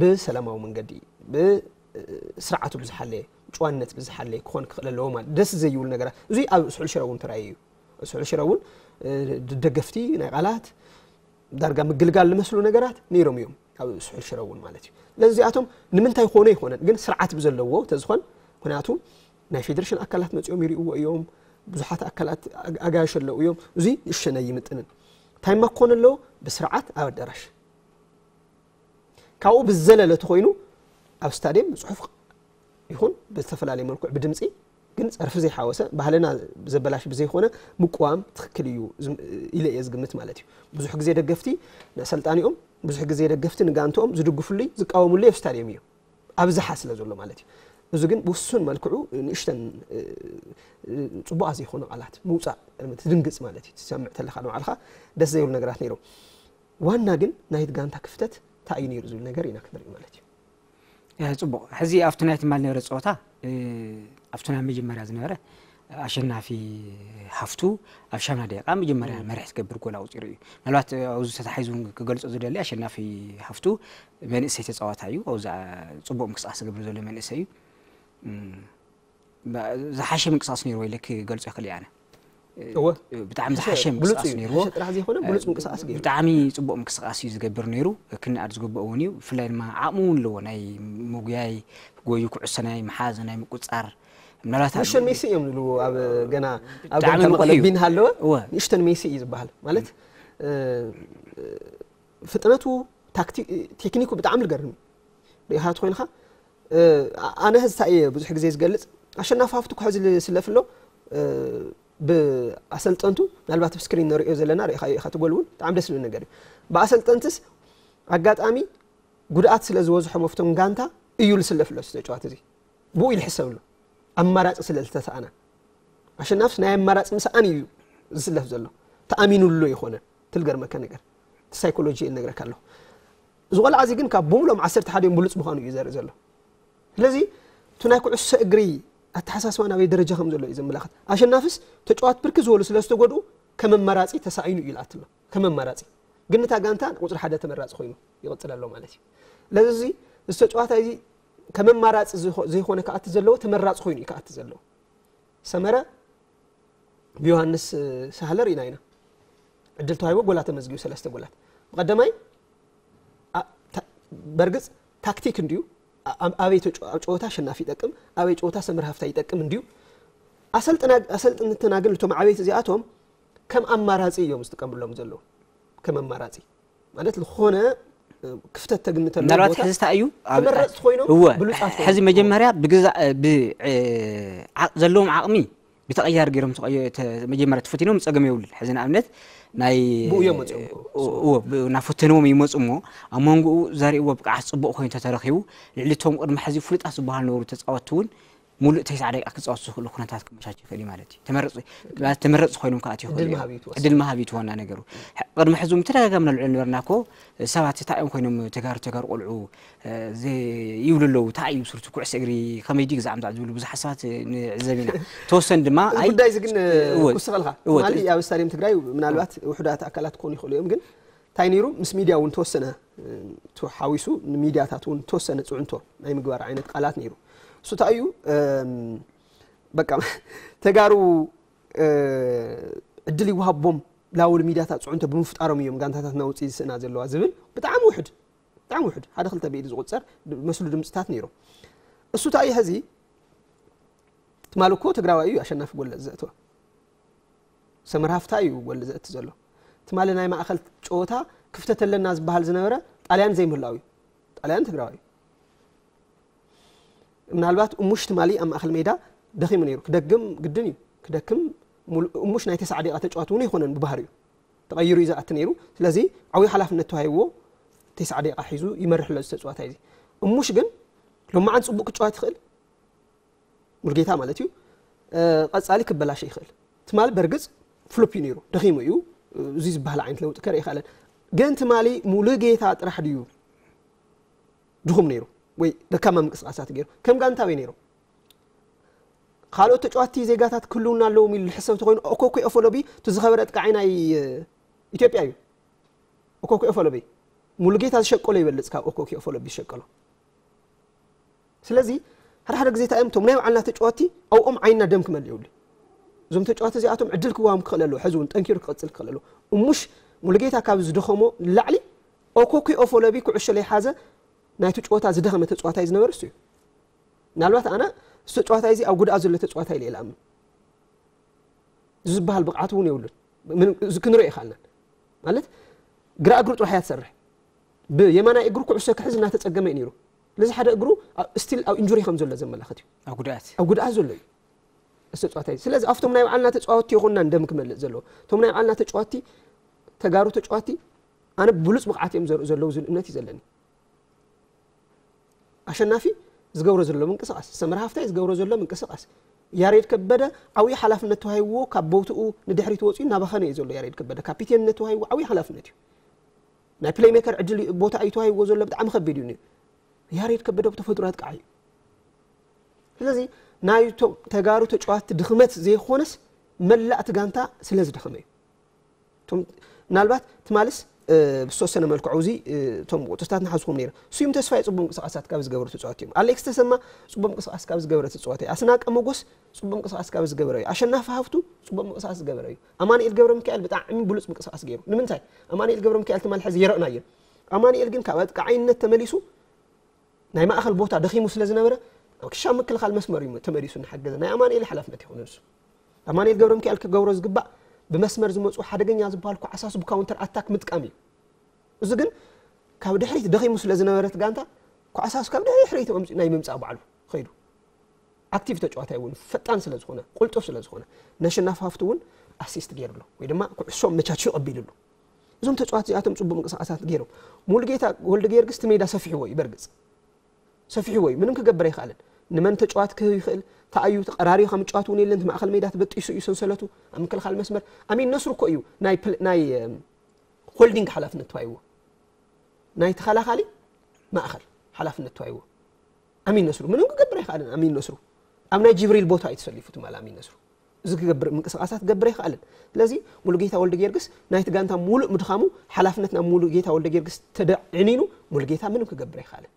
ብሰላማዊ መንገዲ ብስርዓቱ ብዝሓለየ ጭዋነት ብዝሓለየ ክኾን ክኽእል ኣለዎ ማለት ደስ ዘይብሉ ነገራት እዚ ኣብ ስሑል ሽረ እውን ተራእዩ እዩ ስሑል ሽረ እውን ደገፍቲ ናይ ቃላት ዳርጋ ምግልጋል ዝመስሉ ነገራት ነይሮም እዮም ኣብ ስሑል ሽረ እውን ማለት እዩ ስለዚ እዚኣቶም ንምንታይ ኮነ ይኮነን ግን ስርዓት ብዘለዎ ተዝኾን ምክንያቱ ናይ ፌዴሬሽን ኣካላት መፂኦም ይርእዎ እዮም ብዙሓት ኣካላት ኣጋየሽ ኣለዉ እዮም እዚ ንእሸነ ይምጥንን ታይማ ክኾን ኣለዎ ብስርዓት ኣብ ኣዳራሽ ካብኡ ብዘለለ ተኮይኑ ኣብ ስታድየም ብፅሑፍ ይኹን ብዝተፈላለየ መልክዕ ብድምፂ ግን ፀርፊ ዘይሓወሰ ባህልና ዘበላሽ ብዘይኮነ ምቅዋም ትክክል እዩ ኢለ እየ ዝግምት ማለት እዩ ብዙሕ ግዜ ደገፍቲ ንኣሰልጣኒኦም ብዙሕ ግዜ ደገፍቲ ንጋንትኦም ዝድግፍሉ ዝቃወምሉ ኣብ ስታድየም እዩ ኣብዝሓ ስለ ዘሎ ማለት እዩ እዚ ግን ብውሱን መልክዑ ንእሽተን ፅቡቃ ዘይኮነ ቃላት ምውፃእ ትድንግፅ ማለት እዩ ትሰምዕ ተለካ ንባዕልካ ደስ ዘይብሉ ነገራት ነይሮም ዋና ግን ናይቲ ጋንታ ክፍተት እንታይ እዩ ነይሩ ዝብል ነገር ኢና ክንርኢ ማለት እዩ ፅቡቅ ሕዚ ኣብቲ ናይ ትማል ነበረ ፀወታ ኣብቲ ናይ መጀመርያ ዝነበረ ኣሸናፊ ሃፍቱ ኣብ ሻምና ደቂቃ መጀመርያ መርሒ ትገብር ጎል ኣውፂሩ እዩ ምናልባት ኣብዚ ተታሒዙ ክገልፆ ዝደሊ ኣሸናፊ ሃፍቱ መንእሰይ ተፃዋታ እዩ ኣብዛ ፅቡቅ ምንቅስቃስ ዝገብር ዘሎ መንእሰይ እዩ ዝሓሸ ምንቅስቃስ ነይርዎ ኢለ ክገልፆ ይኽእል ኣነ እወ ብጣዕሚ ዝሓሸ ምንቅስቃስ ነይርዎ ጥራሕ ዘይኮነ ብሉፅ ምንቅስቃስ ገይሩ ብጣዕሚ ፅቡቅ ምንቅስቃስ እዩ ዝገብር ነይሩ ክንኣድ ዝግብኦ እውን እዩ ብፍላይ ድማ ዓቕሚ እውን ኣለዎ ናይ ምጉያይ ጎዩ ኩዕሶ ናይ ምሓዝ ናይ ምቁፃር ምናልባት ንእሽተን ሜሲ እዮም ዝብልዎ ኣብ ገና ኣብ ብጣዕሚ ጋንታ ንቑሕ መቐለ እዩ። ቢን ሃለወ እወ። ንእሽተን ሜሲ እዩ ዝበሃል ማለት እ፣ ፍጥነቱ ታክቲ- ቴክኒኩ ብጣዕሚ ዝገርም እዩ። ርኢኻ ተኮይንካ እ፣ ኣነ ህዝታ እየ ብዙሕ ግዜ ዝገልፅ ኣሸናፊ ሃፍቱ ኩሕዚ ዝስለፍ ኣሎ እ፣ ብኣሰልጠንቱ ምናልባት ኣብ ስክሪን ንሪኦ ዘለና ርኢኻ ኢኻ ትጎል እውን ብጣዕሚ ደስ ዝብል ነገር እዩ ብኣሰልጠንትስ ኣጋጣሚ ጉድኣት ስለ ዝበዝሖም ኣብቶም ጋንታ እዩ ዝስለፍ ኣሎ ተጫዋት እዚ ብኡ ይልሕሰብ ኣሎ ኣማራፂ ስለ ዝተሰኣነ ኣሸናፍስ ናይ ኣማራፂ ምስኣን እዩ ዝስለፍ ዘሎ ተኣሚኑሉ ኣይኮነን ትልገርመካ ነገር ሳይኮሎጂ እነግረካ ኣለኹ እዚ ቆልዓ እዚ ግን ካብ ብምሎም ዓሰርተ ሓደ ብሉፅ ምዃኑ እዩ ዘርኢ ዘሎ ስለዚ እቲ ናይ ኩዕሶ እግሪ ኣተሓሳስባ ናበይ ደረጃ ከም ዘሎ እዩ ዘመላኽት ኣሸናፍስ ተጫዋት ብርክ ዝበሉ ስለ ዝተጎድኡ ከም ኣማራፂ ተሳኢኑ እዩ ይልኣት ኣሎ ከም ኣማራፂ ግን እታ ጋንታ ቁፅሪ ሓደ ተመራፂ ኮይኑ ይቕፅል ኣሎ ማለት እዩ ስለዚ እዚ ተጫዋታይ እዚ ከም ኣማራፂ ዝኮ- ዘይኮነ ክኣቲ ዘለዎ ተመራፂ ኮይኑ እዩ ክኣቲ ዘለዎ ሰመረ ብዮሃንስ ሳህለ ርኢና ኢና ዕድል ተዋሂቦ ጎላት ተመዝጊቡ ሰለስተ ጎላት። ብቐደማይ ኣ- ታ- በርግጽ ታክቲክ እንድዩ። ኣ- ኣብ- ኣበይ ተጫ- ኣብ ጨወታ ኣሸናፊ ይጠቅም፣ ኣበይ ጨወታ ሰመር ሃፍታ ይጠቅም እንድዩ። ኣሰልጥና ኣሰልጥንትና ግን እቶም ዓበይቲ እዚኣቶም ከም ኣማራጺ እዮም ዝጥቀምሎም ዘለዉ። ከም ኣማራጺ ማለት ዝኾነ ክፍተት ተግንተሉ ምናልባት ሕዚ እንታይ እዩ ተመረፅቲ ኮይኖም ብሉፃት ኮይኖም ሕዚ መጀመርያ ብግዛ ብዓቅ ዘለዎም ዓቅሚ ብተቀያሪ ገይሮም መጀመርያ ተፈቲኖም ፀገም የብሉን። ሕዚ ንኣብነት ናይ ብኡ እዮም መፅኦም እኮ። እናፈተንዎም ይመፁ እሞ ኣብ መንጎኡ ዘርእዎ ብቅዓት ፅቡቅ ኮይኑ ተተረኪቡ ልዕሊ እቶም ቅድሚ ሕዚ ፍሉጣት ዝበሃሉ ነበሩ ተፃወትቲ እውን ሙሉእ ተስዓ ደቂቃ ክፃወቱ ዝኽእሉ ኩነታት ክመቻች ይኽእል እዩ ማለት እዩ። ተመረፅቲ ኮይኖም ክኣትዩ ይኽእሉ እዮም። ዕድል ምሃብ እዩ እቲ ዋና ነገሩ። ቅድሚ ሕዚ እውን ተደጋጋሚ ነልዕሎ ነበርና እኮ ሰባት እንታይ እዮም ኮይኖም ተጋሩ ተጋሩ ቆልዑ ይብሉ ኣለዉ። እንታይ እዩ ብስርቱ ኩዕሶ እግሪ ከመይ ድዩ ግዛዕ ምዛዕ ዝብሉ ብዙሓት ሰባት ንዕዘብ ኢና። ተወሰን ድማ ኣይ ጉዳይ እዚ ግን እወ፣ ክውስኸልካ እወ፣ ትማሊ ኣብ ስታዲየም ትግራይ ምናልባት ውሑዳት ኣካላት ክኾኑ ይኽእሉ እዮም ግን እንታይ ነይሩ ምስ ሚድያ እውን ተወሰነ ተሓዊሱ ንሚድያታት እውን ተወሰነ ፅዕንቶ ናይ ምግባር ዓይነት ቃላት ነይሩ። እሱ እንታይ እዩ በቃ ተጋሩ ዕድል ይወሃቦም ላውል ሚድያታት ፅዕንቶ ብምፍጣሮም እዮም ጋንታታት ናውፅኢ ዝስእና ዘለዋ ዝብል ብጣዕሚ ውሕድ ብጣዕሚ ውሕድ ሓደ ክልተ ብኢድ ዝቁፀር መስሉ ድምፅታት ነይሮም። እሱ እንታይ እዩ ሕዚ ትማሊ እኮ ትግራዋይ እዩ ኣሸናፊ ጎል ዘእተወ ሰመር ሃፍታ እዩ ጎል ዘእቲ ዘሎ። ትማሊ ናይ ማእኸል ጨወታ ክፍተት ኣለና ዝበሃል ዝነበረ ጣልያን ዘይምህላው እዩ። ጣልያን ትግራዋይ እዩ። ምናልባት እሙሽ ትማሊ ኣብ ማእኸል ሜዳ ደኺሙ ነይሩ። ክደግም ግድን እዩ። ክደክም ሙሉ- እሙሽ ናይ ተስዓ ደቂቃ ተጫዋቲ እውን ኣይኮነን ብባህሪኡ። ተቐይሩ እዩ ዝኣቲ ነይሩ። ስለዚ ዓብዪ ሓላፍነት ተዋሂብዎ ተስዓ ደቂቃ ሒዙ ይመርሕ ኣሎ እዚ ተጫዋታይ እዚ። እሙሽ ግን ሎማዓንቲ ፅቡቅ ክጫወት ይኽእል ሙልጌታ ማለት እዩ። ቀፃሊ ክበላሸ ይኽእል። ትማሊ በርግፅ ፍሉፕ እዩ ነይሩ ደኺሙ እዩ። እዚ ዝበሃል ዓይነት ለውጢ ከርኢ ይኽእለን። ግን ትማሊ ሙሉጌታ ጥራሕ ድዩ ድኹም ነይሩ ወይ ደካማ ምንቅስቃሳት ገይሩ ከም ጋንታ ኣበይ ነይሮም? ካልኦት ተጫዋቲ ዜጋታት ክህልውና ኣለዎም ኢሉ ዝሕሰብ ተኮይኑ ኦኮኩ ኦፎሎቢ እቲ ዝኸበረ ኣጥቃዓይ ናይ ኢትዮጵያ እዩ። ኦኮኩ ኦፎሎቢ ሙሉጌታ ዝሸቀሎ ይበልፅ ካብ ኦኮኩ ኦፎሎቢ ዝሸቀሎ። ስለዚ ሓደ ሓደ ግዜ እንታይ እዮም እቶም ናይ ባዕልና ተጫወቲ ኣብኦም ዓይንና ደም ክመልእ የብሉ። እዞም ተጫወቲ እዚኣቶም ዕድል ክወሃቦም ክኽእል ኣለዎ። ሕዚ እውን ጠንኪሩ ክቐፅል ክኽእል ኣለዎ። እሙሽ ሙሉጌታ ካብ ዝደኸሞ ንላዕሊ ኦኮኩ ኦፎሎቢ ኩዕሾ ለይሓዘ ናይቲ ጨወታ ዝደኸመ ተጫዋታይ ዝነበረ እሱ እዩ። ምናልባት ኣነ እሱ ተጫዋታይ እዚ ኣብ ጉድኣት ዘሎ ተጫዋታይ ኢለ ይኣምን። እዚ ዝበሃል ብቕዓት እውን የብሉን። ምንም እዚ ክንሪኦ ይኽኣልናን ማለት ግራ እግሩ ጥራሕ እያ ትሰርሕ። ብየማናይ እግሩ ኩዕሶ ክሕዝ እናተፀገመ እዩ ነይሩ። ስለዚ ሓደ እግሩ ስቲል ኣብ ኢንጁሪ ከም ዘሎ ዘመላኽት እዩ። ኣብ ጉድኣት ኣብ ጉድኣት ዘሎ እዩ እሱ ተጫዋታይ። ስለዚ ኣብቶም ናይ ባዕልና ተጫወትቲ ይኹንና እንደም ክመልእ ዘለዎ እቶም ናይ ባዕልና ተጫወትቲ ተጋሩ ተጫወትቲ ኣነ ብሉፅ ብቕዓት እዮም ዘርእዩ ዘለዉ ዝብል እምነት እዩ ዘለኒ። ኣሸናፊ ዝገብሮ ዘሎ ምንቅስቃስ፣ ሰመረ ሃፍታይ ዝገብሮ ዘሎ ምንቅስቃስ፣ ያሬድ ከበደ ዓብዪ ሓላፍነት ተዋሂብዎ ካብ ቦትኡ ንድሕሪት ወፂኡ እናባኸነ እዩ ዘሎ። ያሬድ ከበደ ካፒቴንነት ተዋሂብዎ ዓብዪ ሓላፍነት እዩ። ናይ ፕሌይ ሜከር ዕድል ቦታ እዩ ተዋሂብዎ ዘሎ ብጣዕሚ ከቢድ እዩ ነይሩ። ያሬድ ከበደ ብተፈጥሮ ኣጥቃዓይ እዩ። ስለዚ ናይ እቶም ተጋሩ ተጫዋትቲ ድኽመት ዘይኮነስ መላእ እቲ ጋንታ ስለ ዝደኸመ እዩ። እቶም ምናልባት ትማልስ ብዝተወሰነ መልክዑ እዚ እቶም ቁፅርታት ንሓዝኹም ነይረ ስዩም ተስፋይ ፅቡቅ ምንቅስቃሳት ካብ ዝገበሩ ተፃዋቲ እዮም። ኣሌክስ ተሰማ ፅቡቅ ምንቅስቃስ ካብ ዝገበረ ተፃዋቲ ኣስናቀ መጎስ ፅቡቅ ምንቅስቃስ ካብ ዝገበረ እዩ። ኣሸናፊ ሃፍቱ ፅቡቅ ምንቅስቃስ ዝገበረ እዩ። ኣማኑኤል ገብረ ሚካኤል ብጣዕሚ ብሉፅ ምንቅስቃስ ገይሩ። ንምንታይ ኣማኑኤል ገብረ ሚካኤል ትማል ሕዚ የረእናዮ። ኣማኑኤል ግን ካብ ኣጥቃዓይነት ተመሊሱ ናይ ማእኸል ቦታ ደኺሙ ስለ ዝነበረ ኣብ ክሻ ምክልኻል መስመር እዩ ተመሊሱ እናሓገዘ ናይ ኣማኑኤል ሓላፍነት ይኹን ንሱ ኣማኑኤል ገብረ ሚካኤል ክገብሮ ዝግባእ ብመስመር ዝመፁ ሓደገኛ ዝበሃል ኳዕሳሱ ብካውንተር ኣታክ ምጥቃም እዩ። እዚ ግን ካብ ድሕሪት ደኺሙ ስለ ዝነበረ እቲ ጋንታ ኳዕሳሱ ካብ ድሕሪት ኣምፂኡ ናይ ምምፃእ ባዕሉ ኸይዱ ኣክቲቭ ተጫዋታይ እውን ፈጣን ስለ ዝኾነ ቁልጡፍ ስለ ዝኾነ ነሽናፍ ሃፍቱ እውን ኣሲስት ገይሩ ኣሎ ወይ ድማ ኩዕሶ መቻችኡ ቀቢሉ ኣሎ። እዞም ተጫዋት እዚኣቶም ፅቡቅ ምንቅስቃሳት ገይሮም ሙሉጌታ ወልደ ጊዮርጊስ እቲ ሜዳ ሰፊሕዎ እዩ በርግፅ ሰፊሕዎ እዩ ምንም ክገብር ኣይክኣልን። ንመን ተጫዋት ክህብ ይኽእል ተኣዩ ተቀራሪዩ ካብ ምጫዋት እውን የለን ማእከል ሜዳ ተበጢሱ እዩ ሰንሰለቱ ኣብ ምክልኻል መስመር ኣሚን ነስሩ እኮ እዩ ናይ ናይ ሆልዲንግ ሓላፍነት ተዋይዎ ናይ ተኸላኻሊ ማእኸል ሓላፍነት ተዋይዎ ኣሚን ነስሩ ምንም ክገብር ኣይክኣልን ኣሚን ነስሩ ኣብ ናይ ጅብሪል ቦታ እዩ ተሰሊፉ ትማል ኣሚን ነስሩ እዚ ክገብር ምንቅስቃሳት ክገብር ኣይክኣልን። ስለዚ ሙሉጌታ ወልደ ጊዮርጊስ ናይቲ ጋንታ ሙሉእ ምድኻሙ ሓላፍነት ናብ ሙሉጌታ ወልደ ጊዮርጊስ ተደዕኒኑ ሙሉጌታ ምንም ክገብር ኣይክኣልን።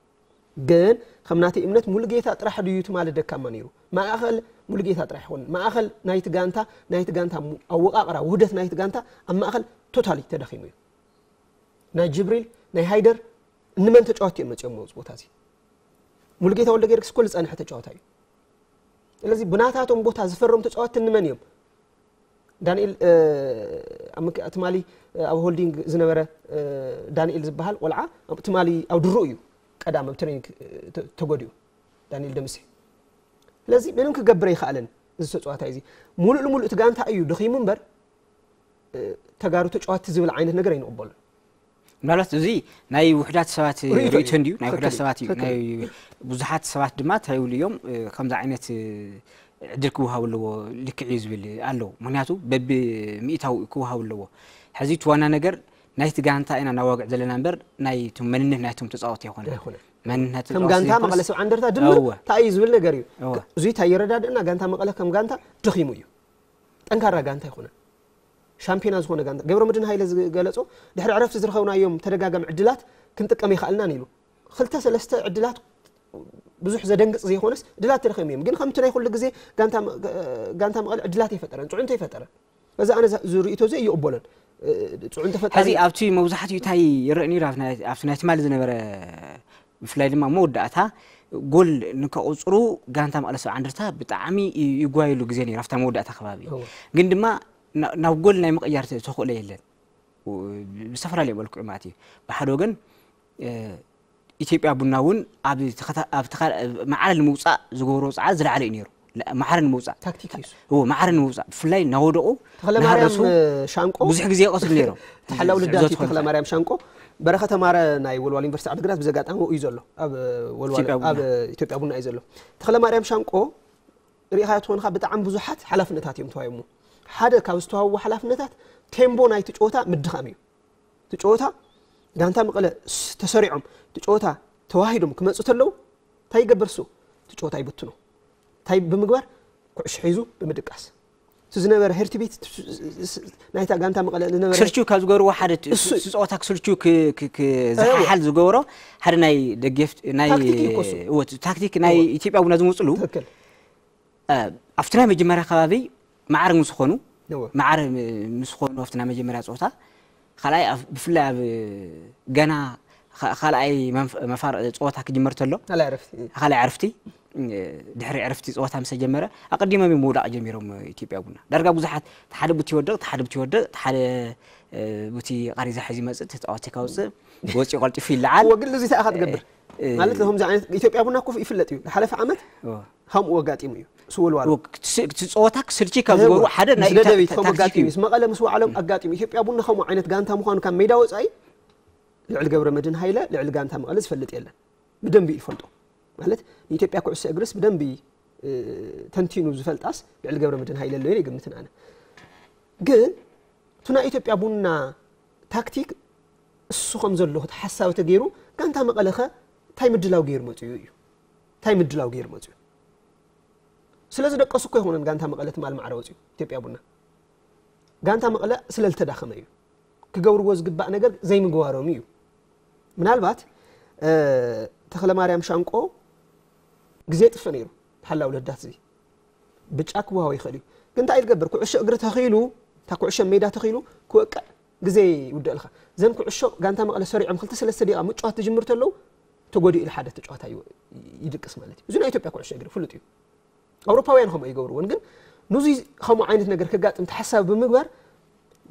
ግን ከም ናተይ እምነት ሙሉጌታ ጥራሕ ድዩ ትማሊ ደካማ ነይሩ? ማእኸል ሙሉጌታ ጥራሕ ይኾን ማእኸል ናይቲ ጋንታ ናይቲ ጋንታ ኣወቃቅራ ውህደት ናይቲ ጋንታ ኣብ ማእኸል ቶታሊ ተደኺሙ እዩ። ናይ ጅብሪል ናይ ሃይደር እንመን ተጫወቲ እዮም መፅኦም መውፅ ቦታ እዚ ሙሉጌታ ወልደ ጊዮርጊስ እኮ ዝፀንሐ ተጫዋታ እዩ። ስለዚ ብናታቶም ቦታ ዝፈረሙ ተጫወቲ እንመን እዮም? ዳንኤል ትማሊ ኣብ ሆልዲንግ ዝነበረ ዳንኤል ዝበሃል ቆልዓ ትማሊ ኣብ ድሩ እዩ ቀዳም ኣብ ትሬኒንግ ተጎዲኡ ዳንኤል ደምሴ። ስለዚ ምንም ክገብር ኣይክኣለን። እዚ ተጫዋታይ እዚ ሙሉእ ልሙሉእ እቲ ጋንታ እዩ ደኺሙ እምበር ተጋሩ ተጫዋቲ ዝብል ዓይነት ነገር ኣይንቕበሉን። ምናልባት እዚ ናይ ውሕዳት ሰባት ርእይቶ እንድዩ ናይ ውሕዳት ሰባት እዩ ናይ ብዙሓት ሰባት ድማ እንታይ ይብሉ እዮም ከምዚ ዓይነት ዕድል ክወሃብ ኣለዎ ልክዕ እዩ ዝብል ኣሎ። ምክንያቱ በቢ ሚእታዊ ክወሃብ ኣለዎ። ሕዚ እቲ ዋና ነገር ናይቲ ጋንታ ኢና እናዋግዕ ዘለና እምበር ናይ እቶም መንነት ናይቶም ተፃወቲ ኣይኮነ። መንነት ከም ጋንታ መቐለ ሰብዓ እንደርታ ድምር እንታይ እዩ ዝብል ነገር እዩ። እዚ እንታይ የረዳድእና ጋንታ መቐለ ከም ጋንታ ደኺሙ እዩ። ጠንካራ ጋንታ ኣይኮነን። ሻምፒዮና ዝኾነ ጋንታ ገብረ መድህን ሃይለ ዝገለጾ ድሕሪ ዕረፍቲ ዝረኸብናዮም ተደጋጋሚ ዕድላት ክንጥቀም ይኸኣልናን ኢሉ። ክልተ ሰለስተ ዕድላት ብዙሕ ዘደንግጽ ዘይኮነስ ዕድላት ተረኺቦም እዮም። ግን ከምቲ ናይ ኩሉ ግዜ ጋንታ መቐለ ዕድላት ኣይፈጠረን፣ ጽዑንቶ ኣይፈጠረን። በዚ ኣነ ዝርእይቶ እዚ ኣይቕበሎን። ጽዑንቶ ፈጣሪ ሕዚ ኣብቲ መብዛሕትኡ እንታይ ይረአ ነይሩ ኣብቲ ናይ ትማሊ ዝነበረ ብፍላይ ድማ መወዳእታ ጎል ንከቑፅሩ ጋንታ መቐለ ሰብዓ እንደርታ ብጣዕሚ ይጓየሉ ግዜ ነይሩ ኣብታ መወዳእታ ከባቢ ግን ድማ ናብ ጎል ናይ ምቕያር ተኽእሎ የለን ብዝተፈላለየ መልክዑ ማለት እዩ ብሓደ ወገን ኢትዮጵያ ቡና እውን ኣብ ማዕረ ንምውፃእ ዝገብሮ ፃዕሪ ዝለዓለ እዩ ነይሩ ማዕረ ንምውፃእ ታክቲክ እዩ እሱ። እዎ ማዕረ ንምውፃእ ብፍላይ እናወደቑ ተኽለማርያም እናሃረሱ ሻንቆ ብዙሕ ግዜ ይቐትሉ ነይሮም። ተሓላው ልዳት እዩ ተኽለማርያም ሻንቆ። በረኸተ ማረ ናይ ወልዋል ዩኒቨርሲቲ ዓድግራት ብዚ ኣጋጣሚ እዩ ዘሎ ኣብ ወልዋል ኢትዮጵያ ቡና። ኣብ ኢትዮጵያ ቡና እዩ ዘሎ። ተኽለማርያም ሻንቆ ርኢኻዮ ትኾንካ ብጣዕሚ ብዙሓት ሓላፍነታት እዮም ተዋሂቦሞ። ሓደ ካብ ዝተዋህብዎ ሓላፍነታት ቴምቦ ናይቲ ጨወታ ምድኻም እዩ። እቲ ጨወታ ጋንታ መቐለ ተሰሪዖም እቲ ጨወታ ተዋሂዶም ክመፁ ተለዉ እንታይ ይገበር እሱ እቲ ጨወታ ይብትኖ እንታይ ብምግባር ኩዕሾ ሒዙ ብምድቃስ እቲ ዝነበረ ሄርትቢት ናይታ ጋንታ መቐለ ዝነበረ ክስልችው ካብ ዝገብርዎ ሓደ እሱ- እሱ ጸወታ ክስልችው ክ- ክ- ክ- ዝሓሓል ዝገብሮ ሓደ ናይ ደገፍ ናይ ታክቲክ እዩ እኮ እሱ። እወ፣ ታክቲክ ናይ ኢትዮጵያ ቡና ዝመፅሉ ትክክል ኣብቲ ናይ መጀመርያ ከባቢ ማዕረ ምስ ኾኑ እወ። ማዕረ ምስ ኾኑ ኣብቲ ናይ መጀመርያ ፀወታ ካልኣይ ኣብ- ብፍላይ ኣብ ገና ኻ- ካልኣይ መንፍ- መፋር ፀወታ ክጅመር ተሎ ካልኣይ ዕረፍቲ ካልኣይ ዕረፍቲ ድሕሪ ዕረፍቲ ፀወታ ምስ ተጀመረ ኣቀዲሞም እዮም ምውዳቕ ጀሚሮም ኢትዮጵያ ቡና ዳርጋ ብዙሓት ሓደ ቡት ይወድቕ ሓደ ቡት ይወድቕ ሓደ ቡቲ ቃሪዛ ሒዙ ይመፅእ ተፃዋቲ ካውፅእ ወፂኡ ቀልጢፉ ይለዓል ወግል እዚ ተኣኻ ትገብር ማለት ከምዚ ዓይነት ኢትዮጵያ ቡና እኮ ይፍለጥ እዩ ዝሓለፈ ዓመት ከምኡ ኣጋጢሙ እዩ ስወልዋሉ እቲ ጸወታ ክስልቺ ካብ ዝገብሩ ሓደ ናይ ምስ ደደቢት ከምኡ ኣጋጢሙ እዩ ምስ መቐለ ምስ ዋዕሎም ኣጋጢሙ ኢትዮጵያ ቡና ከምኡ ዓይነት ጋንታ ምዃኑ ካብ ሜዳ ወፃኢ ልዕሊ ገብረ መድህን ሃይለ ልዕሊ ጋንታ መቐለ ዝፈልጥ የለን ብደንቢ እዩ ዝፈልጦ ማለት ንኢትዮጵያ ኩዕሶ እግርስ ብደንቢ ተንቲኑ ዝፈልጣስ ልዕሊ ገብረ መድህን ሃይለ ኣሎ ይግምትን ኣነ ግን እቲ ናይ ኢትዮጵያ ቡና ታክቲክ እሱ ከም ዘሎ እቲ ሓሳብ ተገይሩ ጋንታ መቐለኸ እንታይ ምድላው ገይሩ መፅኡ እዩ እንታይ ምድላው ገይሩ መፅኡ ስለ ዝደቀሱ እኮ ይኾነን ጋንታ መቐለ ትማል ማዕረ ወፅኡ ኢትዮጵያ ቡና ጋንታ መቐለ ስለ ዝተዳኸመ እዩ ክገብርዎ ዝግባእ ነገር ዘይምግባሮም እዩ ምናልባት ተኽለ ማርያም ሻንቆ ግዜ ጥፍእ ነይሩ ሓላው ለዳት እዚ ብጫ ክወሃቦ ይኽእል እዩ ግን እንታይ ዝገብር ኩዕሾ እግሪ ተኺሉ እታ ኩዕሾ ሜዳ ተኺሉ ክወቅዕ ግዜ ይውደእልካ ዘን ኩዕሾ ጋንታ መቐለ ሰሪዖም ክልተ ሰለስተ ደቂቃ ምጭዋት ትጅምር ተለዉ ተጎዲኡ ኢሉ ሓደ ተጫዋታይ ይድቅስ ማለት እዩ እዚ ናይ ኢትዮጵያ ኩዕሾ እግሪ ፍሉጥ እዩ ኣውሮፓውያን ከምኡ ይገብርዎን ግን ንዙይ ከምኡ ዓይነት ነገር ከጋጥም ተሓሳቢ ብምግባር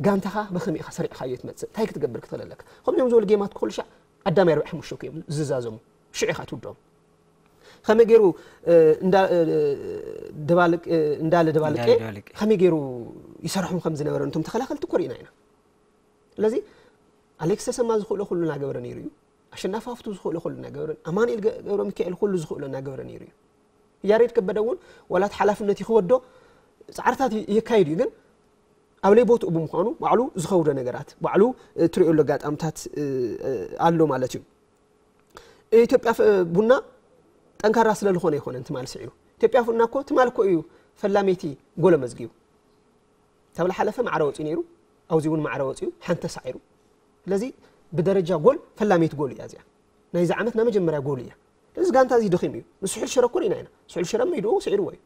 ጋንታኻ በኸመይ ኢኻ ሰሪዕኻዮ ትመፅእ እንታይ ክትገብር ክትኽእል ኣለካ ከምዚኦም ዝበሉ ጌማት ክኽሉ ሻዕ ኣዳሚ ኣርባዕ ሓሙሽተ እዮም ዝዛዘሙ ሽዑ ኢኻ ትውድኦም ከመይ ገይሩ እንዳለ ደባልቄ ከመይ ገይሩ ይሰርሖም ከም ዝነበረ ነቶም ተኸላኸልቲ እኮ ርኢና ኢና ስለዚ ኣሌክስ ተሰማ ዝኽእሎ ኩሉ እናገበረ ነይሩ እዩ ኣሸናፊ ሃፍቱ ዝኽእሎ ኩሉ እናገበረ ኣማኑኤል ገብረ ሚካኤል ኩሉ ዝኽእሎ እናገበረ ነይሩ እዩ ያሬድ ከበደ እውን ዋላት ሓላፍነት ይኽወዶ ፃዕርታት የካይድ እዩ ግን ኣብ ለይ ቦትኡ ብምዃኑ ባዕሉ ዝኸውዶ ነገራት ባዕሉ ትሪኦ ኣሎ ኣጋጣምታት ኣሎ ማለት እዩ ኢትዮጵያ ቡና ጠንካራ ስለ ዝኾነ ይኾነ ትማል ስዒሩ ኢትዮጵያ ቡና እኮ ትማል እኮ እዩ ፈላመይቲ ጎል ኣመዝጊቡ ተብላ ሓለፈ ማዕረ ወፂኡ ነይሩ ኣብዚ እውን ማዕረ ወፂኡ ሓንቲ ተሳዒሩ ስለዚ ብደረጃ ጎል ፈላመይቲ ጎል እያ እዚኣ ናይዚ ዓመት ናይ መጀመርያ ጎል እያ እዚ ጋንታ እዚ ደኺም እዩ ንስሑል ሽረ እኮ ርኢና ኢና ስሑል ሽረ መይድኡ ስዒርዎ እዩ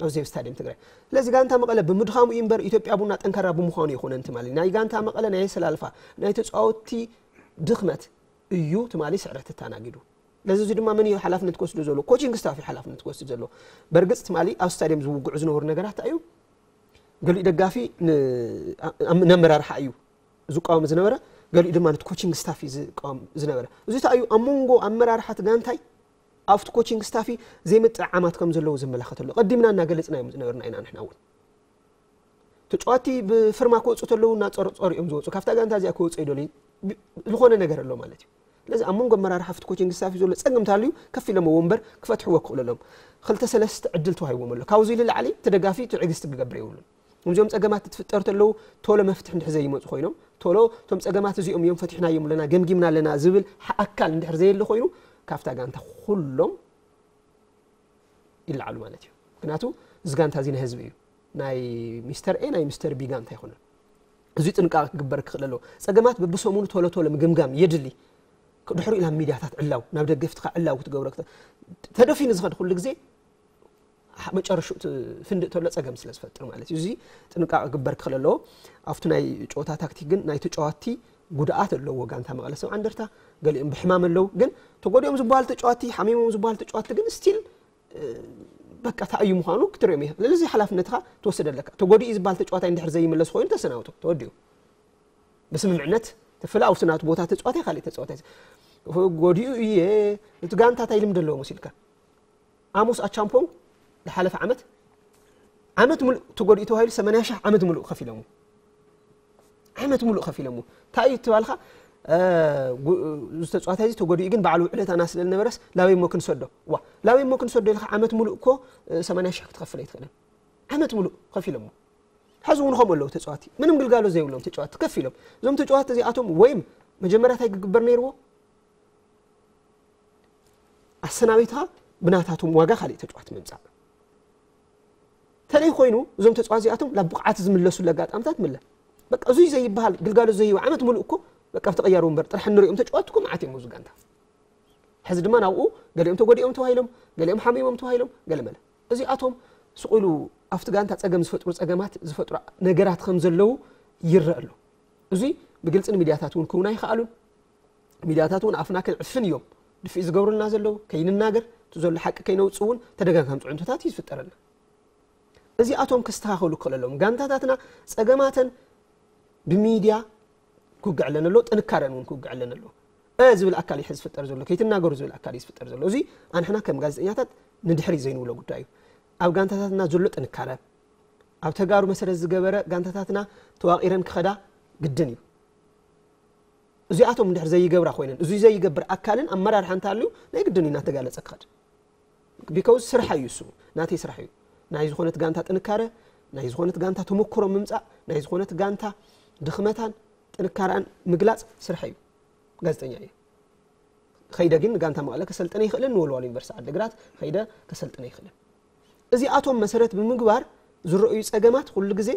ኣብዚ ኣብ ስታድየም ትግራይ። ስለዚ ጋንታ መቐለ ብምድኻሙ እዩ እምበር ኢትዮጵያ ቡና ጠንካራ ብምዃኑ ይኾነን ትማሊ። ናይ ጋንታ መቐለ ናይ ኣሰላልፋ ናይ ተፃወትቲ ድኽመት እዩ ትማሊ ስዕረት ተተኣናጊዱ። ስለዚ እዚ ድማ መን እዩ ሓላፍነት ክወስዶ ዘሎ? ኮቺንግ ስታፍ እዩ ሓላፍነት ክወስድ ዘሎ። በርግፅ ትማሊ ኣብ ስታድየም ዝውግዑ ዝነበሩ ነገራት እዩ። ገሊኡ ደጋፊ ን- ኣ- ነመራርሓ እዩ ዝቃወም ዝነበረ፣ ገሊኡ ድማ ነቲ ኮቺንግ ስታፍ እዩ ዝቃወም ዝነበረ። እዚ እንታይ እዩ? ኣብ መንጎ ኣመራርሓ እቲ ጋንታይ ኣብቲ ኮቺንግ ስታፍ ዘይምጥዕዓማት ከም ዘለዉ ዘመላኸተሉ። ቀዲምና እናገለፅና እዮም ዝነበርና ኢና ንሕና እውን። ተጫዋቲ ብፍርማ ክወፁ ተለዉ እናፀርፀሩ እዮም ዝወፁ። ካብታ ጋንታ እዚኣ ክወፁ ይደልዩ። ብ- ዝኾነ ነገር ኣሎ ማለት እዩ። ስለዚ ኣብ መንጎ ኣመራርሓ ኣብቲ ኮቺንግ ስታፍ ዘሎ ፀገም እንተሃልዩ ከፍ ኢሎምዎ እምበር ክፈትሕዎ ክኽእሉ ኣለዎም። ክልተ ሰለስተ ዕድል ተዋሂቦም ኣሎ። ካብዚ ንላዕሊ እቲ ደጋፊ ትዕግስቲ ክገብር የብሉን። እዚኦም ፀገማት ትፍጠር ተለዉ ቶሎ መፍትሒ እንድሕር ዘይመፁ ኮይኖም ቶሎ እቶም ፀገማት እዚኦም እዮም ፈቲሕናዮም ኣለና ገምጊምና ኣለና ዝብል ሓ- ኣካል እንድሕር ዘየለ ኮይኑ ካብታ ጋንታ ኩሎም ይለዓሉ ማለት እዩ። ምክንያቱ እዚ ጋንታ እዚ ናይ ህዝቢ እዩ። ናይ ሚስተር ኤ ናይ ሚስተር ቢ ጋንታ ኣይኮነን። እዚ ጥንቃቄ ክግበር ክኽእል ኣለዎ። ፀገማት በብሰሙኑ ቶሎ ቶሎ ምግምጋም የድሊ። ድሕሪኡ ናብ ሚድያታት ዕላው ናብ ደገፍትኻ ዕላው ክትገብሮ ክተ- ተደፊኑ ዝኸድ ኩሉ ግዜ መጨረሽኡ ፍንድእ ተሎ ፀገም ስለ ዝፈጥር ማለት እዩ። እዚ ጥንቃቄ ክግበር ክኽእል ኣለዎ። ኣብቲ ናይ ጨወታ ታክቲክ ግን ናይ ተጫዋቲ ጉድኣት ኣለዎ። ጋንታ መቐለ ሰብዓ እንደርታ ገሊኦም ብሕማም ኣለዉ፣ ግን ተጎዲኦም ዝበሃሉ ተጫዋቲ ሓሚሞም ዝበሃሉ ተጫዋቲ ግን ስቲል በቃ እንታይ እዩ ምዃኑ ክትሪኦም ኢኻ። ስለዚ ሓላፍነትኻ ትወስድ ኣለካ። ተጎዲኡ ዝበሃል ተጫዋታይ እንድሕር ዘይምለስ ኮይኑ ተሰናብቶ ተወዲኡ ብስምምዕነት ተፍላ ኣብቲ ናቱ ቦታ ተጫዋታይ ካልእ ተጫዋታይ ጎዲኡ እየ እቲ ጋንታ እንታይ ልምዲ ኣለዎ መሲልካ ኣሞስ ኣቻምፖንግ ዝሓለፈ ዓመት ዓመት ሙሉእ ተጎዲኡ ተባሂሉ ሰማንያ ሺሕ ዓመት ሙሉእ ከፊሎሙ ዓመት ሙሉእ ከፊሎሙ እንታይ እዩ ትባልካ ዝተፅዋታይ እዚ ተጎዲኡ ግን በዓል ውዕለታና ስለ ዝነበረስ ላበይ እሞ ክንሰዶ ዋ ላበይ እሞ ክንሰዶ ኢልካ ዓመት ሙሉእ እኮ ሰማንያ ሺሕ ክትኸፍል ኣይትኽእልን ዓመት ሙሉእ ከፊሎሞ ሕዚ እውን ከምኡ ኣለዉ ተፃዋቲ ምንም ግልጋሎት ዘይብሎም ተጫዋቲ ከፊሎም እዞም ተጫዋቲ እዚኣቶም ወይም መጀመርያ እንታይ ክግበር ነይርዎ ኣሰናቢትኻ ብናታቶም ዋጋ ካልእ ተጫዋቲ ምምፃእ ተለይ ኮይኑ እዞም ተፃዋት እዚኣቶም ናብ ብቕዓት ዝምለሱሉ ኣጋጣምታት ምለ በቃ እዙይ ዘይበሃል ግልጋሎት ዘይህብ ዓመት ሙሉእ እኮ በቃ ብተቐያሪ ወንበር ጥራሕ እንሪኦም ተጫዋት እኮ መዓት እዮም ኣብዚ ጋንታ ሕዚ ድማ ናብኡ ገሊኦም ተጎዲኦም ተባሂሎም ገሊኦም ሓሚሞም ተባሂሎም ገለመለ እዚኣቶም ስቕ ኢሉ ኣብቲ ጋንታ ፀገም ዝፈጥሩ ፀገማት ዝፈጥሩ ነገራት ከም ዘለዉ ይረአ ኣሎ እዙይ ብግልፂ ንሚድያታት እውን ክውና ይኸኣሉን ሚድያታት እውን ኣፍና ክንዕፍን እዮም ድፍእ ዝገብሩልና ዘለዉ ከይንናገር እቲ ዘሎ ሓቂ ከይነውፅ እውን ተደጋጋሚ ፅዕንቶታት እዩ ዝፍጠረልና እዚኣቶም ክስተኻኸሉ ክኽእለሎም ጋንታታትና ፀገማተን ብሚድያ ክውግዕ ኣለነ ኣሎ ጥንካረን እውን ክውግዕ ኣለነ ኣሎ እ ዝብል ኣካል እዩ ዝፍጠር ዘሎ ከይትናገሩ ዝብል ኣካል እዩ ዝፍጠር ዘሎ እዚ ኣንሕና ከም ጋዜጠኛታት ንድሕሪ ዘይንብሎ ጉዳይ እዩ ኣብ ጋንታታትና ዘሎ ጥንካረ ኣብ ተጋሩ መሰረት ዝገበረ ጋንታታትና ተዋቒረን ክኸዳ ግድን እዩ እዚኣቶም እንድሕር ዘይገብራ ኮይነን እዚ ዘይገብር ኣካልን ኣመራርሓ እንተሃልዩ ናይ ግድን እዩ እናተጋለፀ ክኸድ ቢካውዝ ስራሕ እዩ እሱ ናተይ ስራሕ እዩ ናይ ዝኾነት ጋንታ ጥንካረ ናይ ዝኾነት ጋንታ ተመክሮ ምምፃእ ናይ ዝኾነት ጋንታ ድኽመታን ጥንካረኣን ምግላፅ ስራሕ እዩ ጋዜጠኛ እየ ከይደ ግን ንጋንታ መቐለ ከሰልጥነ ይኽእልን ንወልዋሎ ዩኒቨርሲቲ ዓድግራት ከይደ ከሰልጥነ ይኽእልን እዚኣቶም መሰረት ብምግባር ዝረኣዩ ፀገማት ኩሉ ግዜ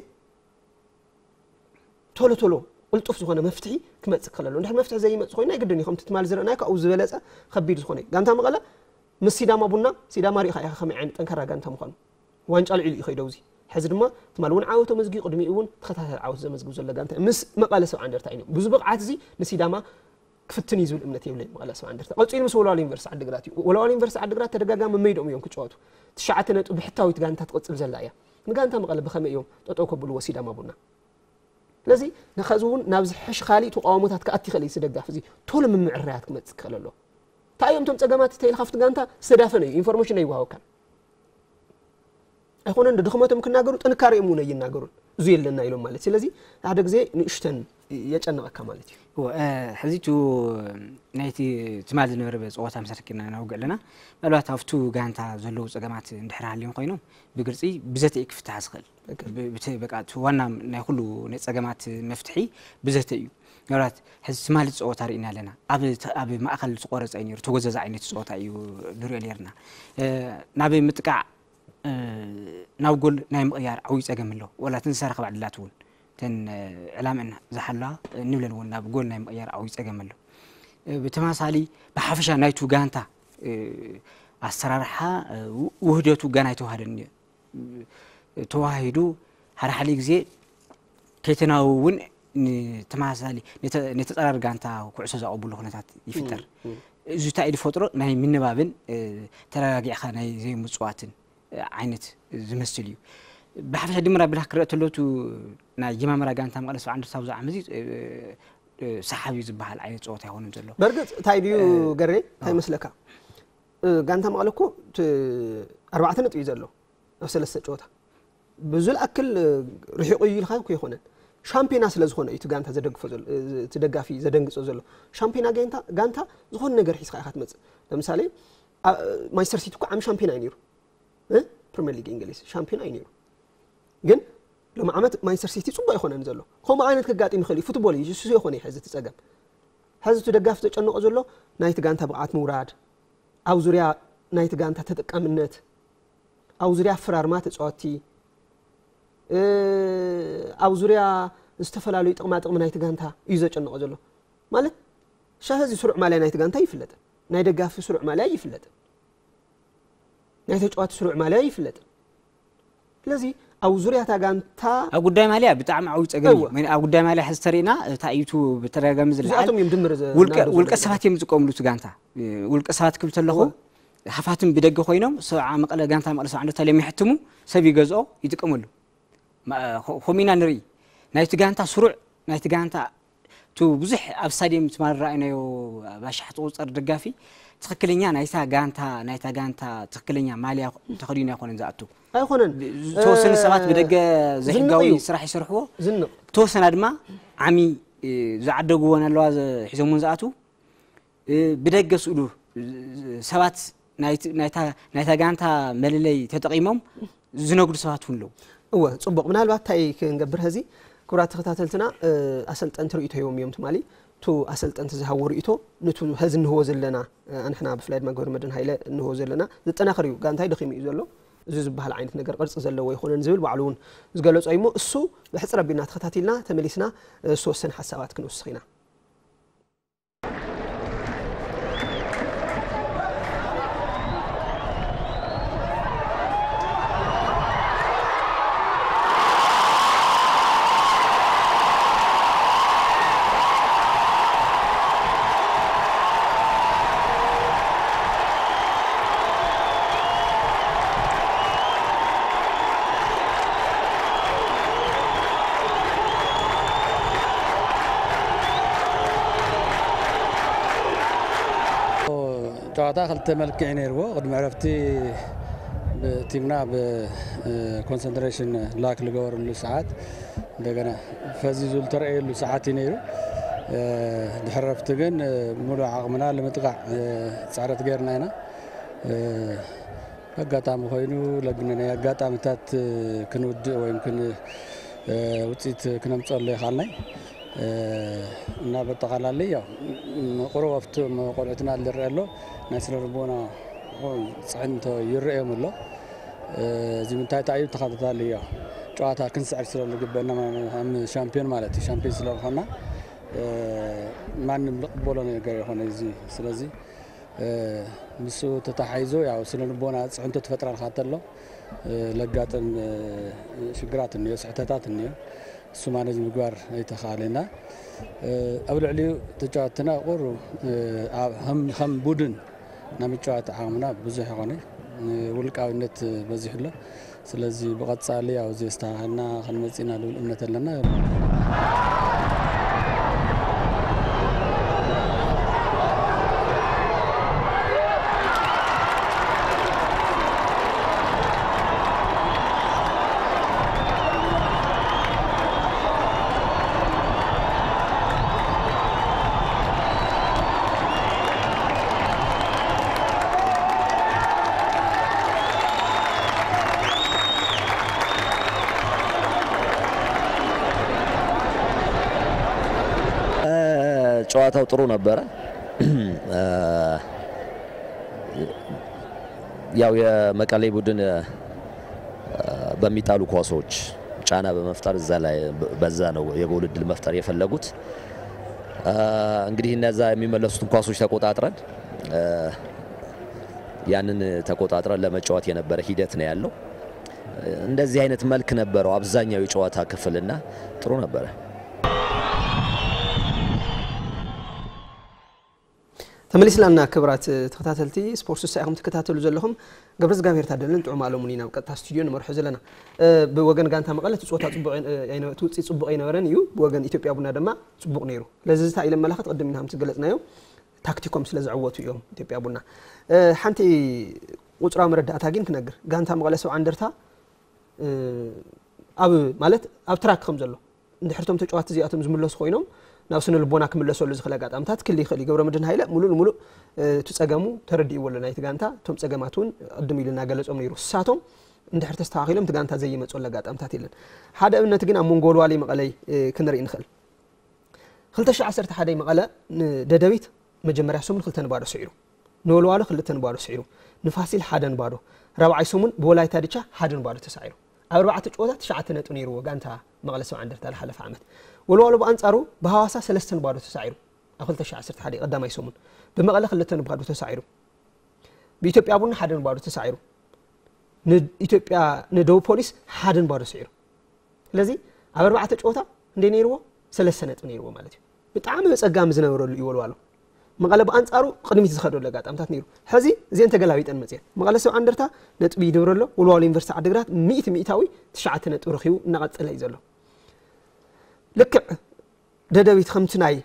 ቶሎ ቶሎ ቅልጡፍ ዝኾነ መፍትሒ ክመፅእ ክኽእል ኣለዎ እንድሕር መፍትሒ ዘይመፅእ ኮይኑ ናይ ግድን እዩ ከምቲ ትማሊ ዝረእናዮ ካብኡ ዝበለፀ ከቢድ ዝኾነ እዩ ጋንታ መቐለ ምስ ሲዳማ ቡና ሲዳማ ሪኢኻ ኢኻ ከመይ ዓይነት ጠንካራ ጋንታ ምዃኑ ዋንጫ ልዒሉ እዩ ከይደው እዚ ሕዚ ድማ ትማሊ እውን ዓወት ተመዝጊቡ ቅድሚኡ እውን ተኸታታሊ ዓወት ዘመዝግብ ዘሎ ጋንታ ምስ መቐለ ሰብዓ እንደርታ እዩ ብዙ ብቕዓት እዚ ንሲዳማ ክፍትን እዩ ዝብል እምነት የብለይ መቐለ ሰብዓ እንደርታ ቀፂሉ ምስ ወልዋሎ ዩኒቨርሲቲ ዓድግራት እዩ ወልዋሎ ዩኒቨርሲቲ ዓድግራት ተደጋጋሚ መይዶም እዮም ክጫወቱ ትሽዓተ ነጥቢ ብሕታዊት ጋንታ ትቕፅል ዘላ እያ ንጋንታ መቐለ ብኸመይ እዮም ጠጠው ከብልዎ ሲዳማ ቡና ስለዚ ንኸዚ እውን ናብ ዝሕሽ ካሊእ ተቃውሞታት ክኣቲ ይኽእል እዩ ደጋፊ እዚ ቶሎ ምምዕራያት ክመፅእ ክኽእል ኣሎ እንታይ እዮም እቶም ፀገማት ተይልካ ኣብቲ ጋንታ ዝተዳፈነ እዩ ኢንፎርሜሽን ኣይወሃበካን ኣይኮነን ድኽመቶም ክናገሩ ጥንካሬኦም እውን ኣይናገሩን እዚ የለና ኢሎም ማለት ስለዚ ሓደ ግዜ ንእሽተን የጨንቐካ ማለት እዩ ሕዚ ቱ ናይቲ ትማል ዝነበረ ፀወታ መሰረት ጌርና ነውግዕ ኣለና ምናልባት ኣብቱ ጋንታ ዘለዉ ፀገማት እንድሕር ሃልዮም ኮይኖም ብግልፂ ብዘተ ክፍትሓ ዝኽእል ዋና ናይ ኩሉ ናይ ፀገማት መፍትሒ ብዘተ እዩ ምናልባት ሕዚ ትማሊ ፀወታ ርኢና ኣለና ኣብ ማእኸል ዝቆረፀ እዩ ነሩ ተጎዘዘ ዓይነት ፀወታ እዩ ንሪኦ ነርና ናብ ምጥቃዕ ናብ ጎል ናይ ምቕያር ዓብዩ ፀገም ኣሎ ወላ እተን ዝተረኸባ ዕድላት እውን እተን ዕላምአን ዝሓላ ንብለን እውን ናብ ጎል ናይ ምቕያር ዓብዩ ፀገም ኣሎ ብተመሳሳሊ ብሓፈሻ ናይቱ ጋንታ ኣሰራርሓ ውህደቱ ገና ኣይተዋህደን ተዋሂዱ ሓደ ሓደ ግዜ ከይተናበቡ እውን ንተመሳሳሊ ነተ- ነተጸራሪ ጋንታ ኩዕሶ ዘቐብሉ ኩነታት ይፍጠር። እዚ እንታይ እዩ ዝፈጥሮ? ናይ ምንባብን ተረጋጊዕካ ናይ ዘይምፅዋትን ዓይነት ዝመስል እዩ። ብሓፈሻ ድምር ኣቢልካ ክረአ ተሎ እቲ ናይ ጅማምራ ጋንታ መቐለ ሰብዓ እንደርታ ኣብዚ ዓመት እዚ ሰሓቢ ዝበሃል ዓይነት ፀወታ ኣይኮነን ዘሎ። በርግጥ እንታይ ድዩ ገሬ እንታይ መስለካ? ጋንታ መቐለ እኮ ኣርባዕተ ነጥቢ እዩ ዘሎ ኣብ ሰለስተ ጨወታ። ብዙ ዝኣክል ርሒቑ እዩ ኢልካ እኮ ኣይኮነን። ሻምፒዮና ስለ ዝኾነ እዩ እቲ ጋንታ ዘደግፎ ዘሎ፣ እቲ ደጋፊ ዘደንግጾ ዘሎ። ሻምፒዮና ጋንታ ጋንታ ዝኾነ ነገር ሒዝካ ኢኻ ትመጽእ። ለምሳሌ ማንቸስተር ሲቲ እኮ ዓሚ ሻምፒዮና እዩ ነይሩ። ፕሪሚየር ሊግ እንግሊዝ ሻምፒዮና እዩ ነይሩ። ግን ሎም ዓመት ማንቸስተር ሲቲ ጽቡቅ ኣይኮነን ዘሎ። ከምኡ ዓይነት ከጋጥም ይኽእል እዩ። ፉትቦል እዩ፣ እሱ ይኾነ እዩ ሕዚ እቲ ጸገም። ሕዚ እቲ ደጋፊ ዘጨንቆ ዘሎ ናይቲ ጋንታ ብቕዓት ምውራድ፣ ኣብ ዙርያ ናይቲ ጋንታ ተጠቃምነት፣ ኣብ ዙርያ ኣፈራርማ ተፃወትቲ፣ ኣብ ዙርያ ዝተፈላለዩ ጥቕማ ጥቕሚ ናይቲ ጋንታ እዩ ዘጨንቆ ዘሎ። ማለት ሻህ እዚ ስሩዕ ማልያ ናይቲ ጋንታ ይፍለጥን ናይ ደጋፊ ስሩዕ ማልያ ይፍለጥን ናይ ተጫዋቲ ስሩዕ ማልያ ይፍለጥን። ስለዚ ኣብ ዙርያ እታ ጋንታ ኣብ ጉዳይ ማልያ ብጣዕሚ ዓብዩ ፀገም እዩ። ኣብ ጉዳይ ማልያ ሕዚ ተሪእና እታ እዩ ብተደጋጋሚ ዝለዓል ውልቀ ሰባት እዮም ዝጥቀምሉ እቲ ጋንታ። ውልቀ ሰባት ክብል ተለኹ ሃፋትም ብደገ ኮይኖም ሰብዓ መቐለ ጋንታ መቐለ ሰብዓ እንደርታ ኢሎም ይሕትሙ፣ ሰብ ይገዝኦ፣ ይጥቀመሉ። ከምኡ ኢና ንርኢ። ናይቲ ጋንታ ስሩዕ ናይቲ ጋንታ እቲ ብዙሕ ኣብ ስታድየም ትማል ረኣይናዮ ባሻሕ ዝቑፀር ደጋፊ ትኽክለኛ ናይታ ጋንታ ናይታ ጋንታ ትኽክለኛ ማልያ ተኸዲኑ ኣይኮነን ዝኣቱ። ኣይኮነን። ዝተወሰኑ ሰባት ብደገ ዘይሕጋዊ ስራሕ ይሰርሕዎ። ዝተወሰና ድማ ዓሚ ዝዓደግወን ኣለዋ ሒዞምወን ዝኣትዉ። ብደገ ስእሉ ሰባት ናይታ ጋንታ መለለይ ተጠቒሞም ዝነግዱ ሰባት እውን ኣለዉ። እወ፣ ጽቡቕ። ምናልባት እንታይ ክንገብር ሀዚ፣ ክቡራት ተኸታተልትና፣ ኣሰልጠንቲ ርእይቶ ሂቦም እዮም ትማሊ። እቱ ኣሰልጠንቲ ዝሃብዎ ርእይቶ፣ ንቱ ሀዚ እንህቦ ዘለና፣ ኣንሕና ብፍላይ ድማ ገብረመድህን ሃይለ እንህቦ ዘለና፣ ዝጠናኸር እዩ። ጋንታይ ደኺሙ እዩ ዘሎ። እዚ ዝበሃል ዓይነት ነገር ቅርጺ ዘለዎ ኣይኮነን ዝብል ባዕሉ እውን ዝገለጾ እዩ እሞ፣ እሱ ብሕጽር ኣቢልና ተኸታቲልና ተመሊስና ዝተወሰነ ሓሳባት ክንውስኽ ኢና። ጨዋታ ክልተ መልክዕ ነይርዎ። ቅድሚ ዕረፍቲ ቲምና ብኮንሰንትሬሽን ላክ ዝገበረሉ ሰዓት እንደገና ፈዚዙ ዝተረኣየሉ ሰዓት እዩ ነይሩ። ድሕሪ ዕረፍቲ ግን ሙሉእ ዓቕምና ንምጥቃዕ ፃዕረት ገይርና ኢና። ኣጋጣሚ ኮይኑ ለግነ ናይ ኣጋጣሚታት ክንውድእ ወይ ውፅኢት ክነምፀሉ ይኻልናይ እና በጠቓላሊ ያው ቁሩብ ኣብቲ ቆልዑትና ዝረአ ኣሎ ናይ ስነ ልቦና ፅዕንቶ ይረአዮም ኣሎ። እዚ ምንታይ እዩ ተኸታታሊ ያው ጨዋታ ክንስዕር ስለ ዝግበአና ሻምፒዮን ማለት እዩ ሻምፒዮን ስለ ዝኾና ማንም ዝቕበሎ ነገር ይኾነ እዚ ስለዚ ምስኡ ተተሓሒዞ ያው ስነ ልቦና ፅዕንቶ ትፈጥረልካ ተሎ ለጋጥም ሽግራት እኒኦ፣ ስሕተታት እኒኦ። እሱ ማነጅ ምግባር ኣይተኻእለና። ኣብ ልዕሊኡ ተጫወትና ቁሩ ከም ቡድን ናይ ምጭዋት ዓቕምና ብዙሕ ይኾነ ውልቃዊነት በዚሑ ኣሎ። ስለዚ ብቐጻሊ ያው እዚ ኣስተኻኺልና ክንመጽእ ኢና ዝብል እምነት ኣለና። ጨዋታው ጥሩ ነበረ። ያው የመቀሌ ቡድን በሚጣሉ ኳሶች ጫና በመፍጠር እዛ ላይ በዛ ነው የጎል እድል መፍጠር የፈለጉት። እንግዲህ እነዛ የሚመለሱትን ኳሶች ተቆጣጥረን ያንን ተቆጣጥረን ለመጫወት የነበረ ሂደት ነው ያለው። እንደዚህ አይነት መልክ ነበረው አብዛኛው የጨዋታ ክፍልና ጥሩ ነበረ። ተመሊስላና ክብራት ተኸታተልቲ ስፖርት ስሳ ኢኹም ትከታተሉ ዘለኹም። ገብረ እግዚኣብሔር ታደለን ጥዑም ኣለሙን ኢና ኣብ ቀጥታ ስቱዲዮ ንመርሖ ዘለና። ብወገን ጋንታ መቐለ እቲ ፀወታ ፅቡቕ ኣይነ- እቲ ውፅኢት ፅቡቕ ኣይነበረን እዩ። ብወገን ኢትዮጵያ ቡና ድማ ፅቡቕ ነይሩ። ስለዚ እንታይ ኢለ መላኸት ቅድም ኢና ከም ዝገለፅናዮ ታክቲኮም ስለ ዘዕወቱ እዮም ኢትዮጵያ ቡና። ሓንቲ ቁፅራዊ መረዳእታ ግን ክነግር፣ ጋንታ መቐለ ሰብዓ እንደርታ ኣብ ማለት ኣብ ትራክ ከም ዘሎ እንድሕር እቶም ተጫዋቲ እዚኣቶም ዝምለሱ ኮይኖም ናብ ስነ ልቦና ክምለሰሉ ዝኽእል ኣጋጣምታት ክል ይኽእል እዩ። ገብረ መድህን ሃይለ ሙሉእ ንሙሉእ እቲ ጸገሙ ተረዲእዎ ኣሎ ናይቲ ጋንታ። እቶም ጸገማት እውን ቅድም ኢሉ እናገለጾም ነይሩ። እሳቶም እንድሕር ተስተኻኺሎም እቲ ጋንታ ዘይመጸሉ ኣጋጣምታት የለን። ሓደ ኣብነት ግን ኣብ መንጎ ወልዋሊ መቐለይ ክንርኢ ንኽእል። ክልተ ሺሕ ዓሰርተ ሓደ መቐለ ንደደቢት መጀመርያ ሰሙን ክልተ ንባዶ ስዒሩ፣ ንወልዋሎ ክልተ ንባዶ ስዒሩ፣ ንፋሲል ሓደ ንባዶ፣ ራብዓይ ሰሙን ብወላይታ ድቻ ሓደ ንባዶ ተሳዒሩ። ኣብ ኣርባዕተ ጨወታ ትሽዓተ ነጥቢ ነይርዎ ጋንታ መቐለ ሰብዓ እንደርታ ዝሓለፈ ዓመት። ወልዋሎ ብኣንጻሩ ብሃዋሳ ሰለስተ ንባዶ ተሳዒሩ ኣብ ክልተ ሺሕ ዓሰርተ ሓደ ቀዳማይ ሰሙን፣ ብመቐለ ክልተ ንባዶ ተሳዒሩ፣ ብኢትዮጵያ ቡና ሓደ ንባዶ ተሳዒሩ፣ ንኢትዮጵያ ንደቡብ ፖሊስ ሓደ ንባዶ ስዒሩ። ስለዚ ኣብ ኣርባዕተ ጨወታ እንደ ነይርዎ ሰለስተ ነጥቢ ነይርዎ ማለት እዩ። ብጣዕሚ በፀጋሚ ዝነበረሉ እዩ ወልዋሎ። መቐለ ብኣንፃሩ ቅድሚት ዝኸደሉ ኣጋጣምታት ነይሩ። ሕዚ እዚአን ተገላቢጠን መፅየን። መቐለ ሰብዓ እንደርታ ነጥቢ ይድብረ ኣሎ። ወልዋሎ ዩኒቨርሲቲ ዓድግራት ሚእቲ ሚእታዊ ትሽዓተ ነጥቢ ረኺቡ እናቐፀለ እዩ ዘሎ። ልክዕ ደደቢት ከምቲ ናይ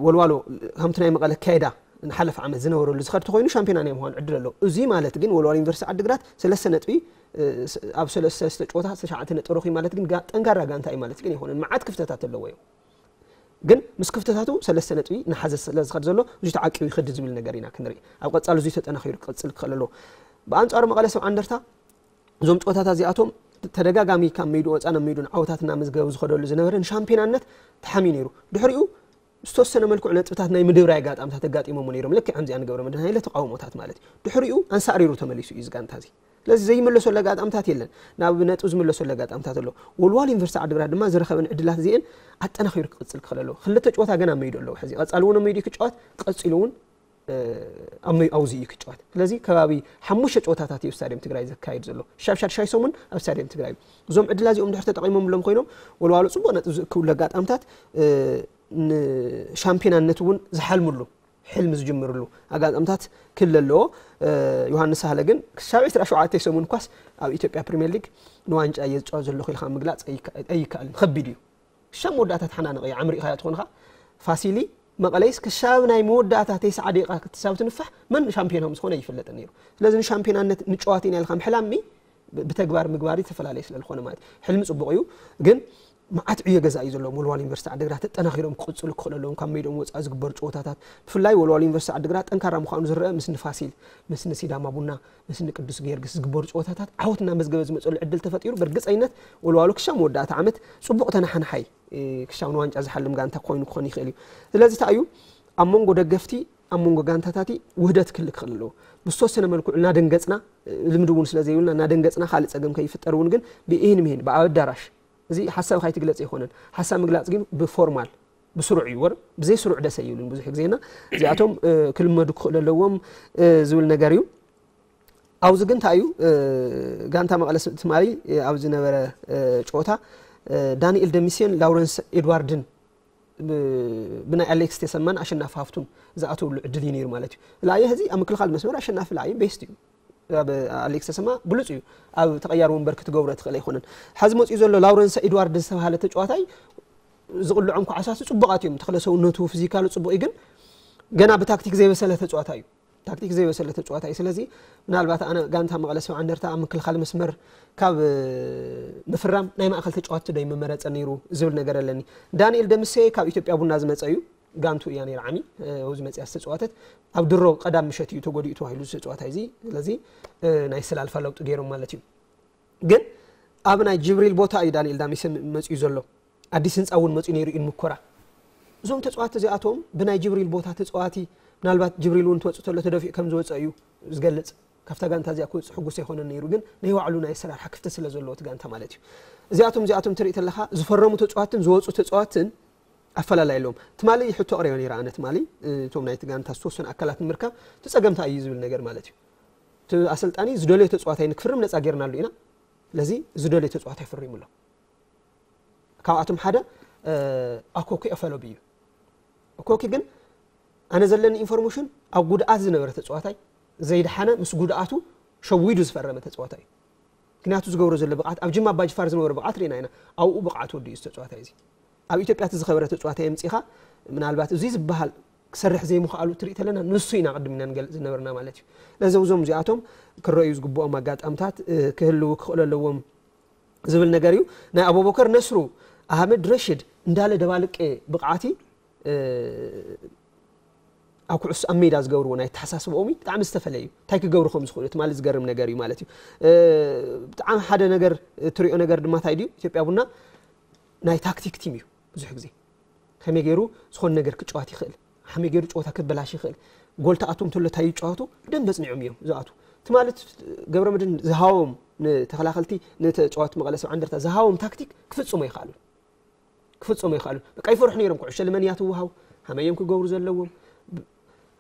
ወልዋሎ ከምቲ ናይ መቐለ ኣካይዳ ንሓለፈ ዓመት ዝነበረሉ ዝኸድ ተኮይኑ ሻምፒዮና ናይ ምዃን ዕድል ኣሎ። እዚ ማለት ግን ወልዋሎ ዩኒቨርሲቲ ዓድግራት ሰለስተ ነጥቢ ኣብ ሰለስተ ጨወታ ትሽዓተ ነጥቢ ረኺቡ ማለት ግን ጠንካራ ጋንታ እዩ ማለት ግን ኣይኮነን። መዓት ክፍተታት ኣለዎ እዩ። ግን ምስ ክፍተታቱ ሰለስተ ነጥቢ ንሓዘ ስለ ዝኸድ ዘሎ እዚ ተዓቂቡ ይኸድ ዝብል ነገር ኢና ክንርኢ። ኣብ ቀጻሊ እዚ ተጠናኺሩ ክቕጽል ክኽእል ኣለዎ። ብኣንጻሩ መቐለ ሰብዓ እንደርታ እዞም ጨወታታት እዚኣቶም ተደጋጋሚ ካብ ሜድኡ ወፃ ናብ ሜድኡ ዓወታት እናመዝገበ ዝኸደሉ ዝነበረ ንሻምፒዮናነት ተሓምዩ ነይሩ። ድሕሪኡ ዝተወሰነ መልክዑ ነጥብታት ናይ ምድብራይ ኣጋጣምታት ኣጋጢሞም ነይሮም። ልክዕ ከምዚኣ ንገብረ መድህን ሃይለ ተቃውሞታት ማለት እዩ። ድሕሪኡ ኣንሳእሪሩ ተመሊሱ እዩ እዚ ጋንታ እዚ። ስለዚ ዘይመለሰሉ ኣጋጣምታት የለን። ናብ ነጥቢ ዝመለሰሉ ኣጋጣምታት ኣሎ። ወልዋል ዩኒቨርሲቲ ዓድግራት ድማ ዝረኸበን ዕድላት እዚአን ኣጠናኺሩ ክቕፅል ክኽእል ኣለዎ። ክልተ ጨወታ ገና ኣብ መይዱ ኣለዎ። ሕዚ ቀፃሊ እውን ኣብ መይዱ ክጫወት ቀፂሉ እውን ኣብዙ እዩ ክጫወት። ስለዚ ከባቢ ሓሙሽተ ጨወታታት እዩ ስታዲየም ትግራይ ዘካየድ ዘሎ። ሻብ ሻድሻይ ሰሙን ኣብ ስታዲየም ትግራይ እዩ። እዞም ዕድላ እዚኦም ድሕር ተጠቂሞምሎም ኮይኖም ወልዋሎ ፅቡቅ ነጥብ ዝእክብሉ ኣጋጣምታት ንሻምፒዮናነት እውን ዝሓልምሉ ሕልሚ ዝጅምርሉ ኣጋጣምታት ክል ኣለዎ። ዮሃንስ ሳህለ ግን ክሳብ ዕስራ ሸውዓተ ሰሙን ኳስ ኣብ ኢትዮጵያ ፕሪምየር ሊግ ንዋንጫ እየ ዝጫወት ዘለኹ ኢልካ ምግላፅ ኣይከኣልን። ከቢድ እዩ። ክሻብ መወዳእታ ተሓናነቐ እዩ ዓምሪቕካዮ ትኾንኻ። ፋሲሊ መቐለይስ ክሻብ ናይ መወዳእታ ተስዓ ደቂቃ ክትሳብ ትንፋሕ መን ሻምፒዮን ከም ዝኾነ ይፍለጥ ነይሩ። ስለዚ ንሻምፒዮናነት ንጨዋት ኢና ኢልካ ምሕላሚ ብተግባር ምግባር ዝተፈላለየ ስለ ዝኾነ ማለት እዩ። ሕልሚ ፅቡቕ እዩ ግን መዓት ዕዮ ገዛ እዩ ዘለዎም። ወልዋል ዩኒቨርሲቲ ዓድግራት ተጠናኺሮም ክቕፅሉ ክኽእሉ ኣለዎም። ካብ ሜድኦም ወፃኢ ዝግበሩ ጨወታታት ብፍላይ ወልዋል ዩኒቨርሲቲ ዓድግራት ጠንካራ ምዃኑ ዝረአ ምስ ንፋሲል፣ ምስ ንሲዳማ ቡና፣ ምስ ንቅዱስ ጊዮርጊስ ዝግበሩ ጨወታታት ዓወት እናመዝገበ ዝመፀሉ ዕድል ተፈጢሩ ብርግፀኝነት ወልዋሎ ክሻብ መወዳእታ ዓመት ፅቡቕ ተናሓናሓይ ክሻብ ንዋንጫ ዝሓልም ጋንታ ኮይኑ ክኾን ይኽእል እዩ። ስለዚ እንታይ እዩ ኣብ መንጎ ደገፍቲ ኣብ መንጎ ጋንታታት ውህደት ክህሉ ክኽእል ኣለዎ። ብዝተወሰነ መልክዑ እናደንገፅና ልምዲ እውን ስለ ዘይብልና እናደንገፅና ካልእ ፀገም ከይፍጠር እውን ግን ብኢህን ምሂን ብኣብ ኣዳራሽ እዚ ሓሳብ ካይትግለፅ ኣይኮነን። ሓሳብ ምግላፅ ግን ብፎርማል ብስሩዕ እዩ ወር ብዘይ ስሩዕ ደሰ ይብልን ብዙሕ ግዜና እዚኣቶም ክልመዱ ክኽእሉ ኣለዎም ዝብል ነገር እዩ። ኣብዚ ግን እንታይ እዩ ጋንታ መቐለ ትማሊ ኣብ ዝነበረ ጨወታ ዳንኤል ደሚሴን ላውረንስ ኤድዋርድን ብናይ ኣሌክስ ተሰማን ኣሸናፊ ሃፍቱን ዝኣተውሉ ዕድል እዩ ነይሩ ማለት እዩ። ላየ ህዚ ኣብ ምክልኻል መስመር ኣሸናፊ ላየ ቤስት እዩ። ኣብ ኣሌክስ ተሰማ ብሉፅ እዩ። ኣብ ተቐያሪ ወንበር ክትገብሮ ትኽእል ኣይኮነን። ሓዚ መፅኡ ዘሎ ላውረንስ ኤድዋርድ ዝተባሃለ ተጫዋታይ ዝቕልዖም ኳዕሳት ፅቡቓት እዮም። ተክለ ሰውነቱ ፊዚካሉ ፅቡቕ እዩ ግን ገና ብታክቲክ ዘይበሰለ ተጫዋታይ እዩ። ታክቲክ ዘይበሰለ ተጫዋታይ እዩ። ስለዚ ምናልባት ኣነ ጋንታ መቐለ ሰብዓ እንደርታ ኣብ ምክልኻል መስመር ካብ ምፍራም ናይ ማእኸል ተጫዋቲ ዶ ይመመረፀ ነይሩ ዝብል ነገር ኣለኒ። ዳንኤል ደምሴ ካብ ኢትዮጵያ ቡና ዝመፀ እዩ። ጋንቱ እያ ነይራ ዓሚ ኣብዚ መፅያ ዝተፃወተት ኣብ ድሮ ቀዳም ምሸት እዩ ተጎዲኡ ተባሂሉ ዝተፃዋታይ እዚ። ስለዚ ናይ ስላልፋ ለውጢ ገይሮም ማለት እዩ። ግን ኣብ ናይ ጅብሪል ቦታ እዩ ዳንኤል ዳሚሰ መፅኡ ዘሎ። ኣዲስ ህንፃ እውን መፅኡ ነይሩ እዩ ሙኮራ። እዞም ተፃዋቲ እዚኣቶም ብናይ ጅብሪል ቦታ ተፃዋቲ ምናልባት ጅብሪል እውን ትወፅእ ተሎ ተደፊኡ ከም ዝወፀ እዩ ዝገልፅ። ካብታ ጋንታ እዚኣ ክወፅእ ሕጉስ ኣይኮነን ነይሩ ግን ናይ ባዕሉ ናይ ኣሰራርሓ ክፍተት ስለ ዘለዎ እቲ ጋንታ ማለት እዩ። እዚኣቶም እዚኣቶም ትርኢ ተለካ ዝፈረሙ ተፃዋትን ዝወፁ ተፃዋትን ኣፈላላይ ኣለዎም። ትማሊ ሕቶ ኣቕሪበ ነይረ ኣነ ትማሊ እቶም ናይቲ ጋንታ ዝተወሰኑ ኣካላት ንምርካብ እቲ ፀገም እንታይ እዩ ዝብል ነገር ማለት እዩ። እቲ ኣሰልጣኒ ዝደለዮ ተፃዋታይ ንክፍርም ነፃ ጌርናሉ ኢና። ስለዚ ዝደልዮ ተፃዋታይ ፈሪሙ ኣሎ። ካብኣቶም ሓደ ኣኮኪ ኣፈሎቢ እዩ። ኣኮኪ ግን ኣነ ዘለኒ ኢንፎርሜሽን ኣብ ጉድኣት ዝነበረ ተፃዋታይ ዘይደሓነ ምስ ጉድኣቱ ሸዊዱ ዝፈረመ ተፃዋታይ እዩ። ምክንያቱ ዝገብሮ ዘሎ ብቕዓት ኣብ ጅማ ኣባጅፋር ዝነበረ ብቕዓት ርኢና ኢና። ኣብኡ ብቕዓት ወዲኡ ዝተፃዋታይ እዚ ኣብ ኢትዮጵያ እቲ ዝኸበረ ተፃዋታይ የምፂኻ ምናልባት እዚ ዝበሃል ክሰርሕ ዘይምኽኣሉ ትርኢ ተለና ንሱ ኢና ቅድም ኢና ንገልፅ ዝነበርና ማለት እዩ። ለዘውዞም እዚኣቶም ክረዩ ዝግብኦም ኣጋጣምታት ክህልው ክኽእሉ ኣለዎም ዝብል ነገር እዩ። ናይ ኣቡበከር ነስሩ ኣህመድ ረሽድ እንዳለ ደባልቄ ብቕዓቲ ኣብ ኩዕሶ ኣብ ሜዳ ዝገብርዎ ናይ ተሓሳስብኦም እዩ ብጣዕሚ ዝተፈለየ እዩ። እንታይ ክገብሩ ከም ዝኽእሉ ትማሊ ዝገርም ነገር እዩ ማለት እዩ። ብጣዕሚ ሓደ ነገር ትሪኦ ነገር ድማ እንታይ ድዩ? ኢትዮጵያ ቡና ናይ ታክቲክ ቲም እዩ። ብዙሕ ግዜ ከመይ ገይሩ ዝኾነ ነገር ክጫወት ይኽእል፣ ከመይ ገይሩ ጨወታ ክበላሽ ይኽእል፣ ጎል ተኣትዎም ተሎ እንታይ ይጫወቱ ብደንብ ኣፅኒዖም እዮም ዝኣቱ። እቲ ማለት ገብረ መድህን ዝሃቦም ንተኸላኸልቲ ንተጫወቲ መቐለ ሰብዓ እንደርታ ዝሃቦም ታክቲክ ክፍፅሞ ይኽኣሉ ክፍፅሞ ይኽኣሉ። በቃ ይፈርሑ ነይሮም። ኩዕሾ ልመን እያ ትወሃው፣ ሃመይ እዮም ክገብሩ ዘለዎም።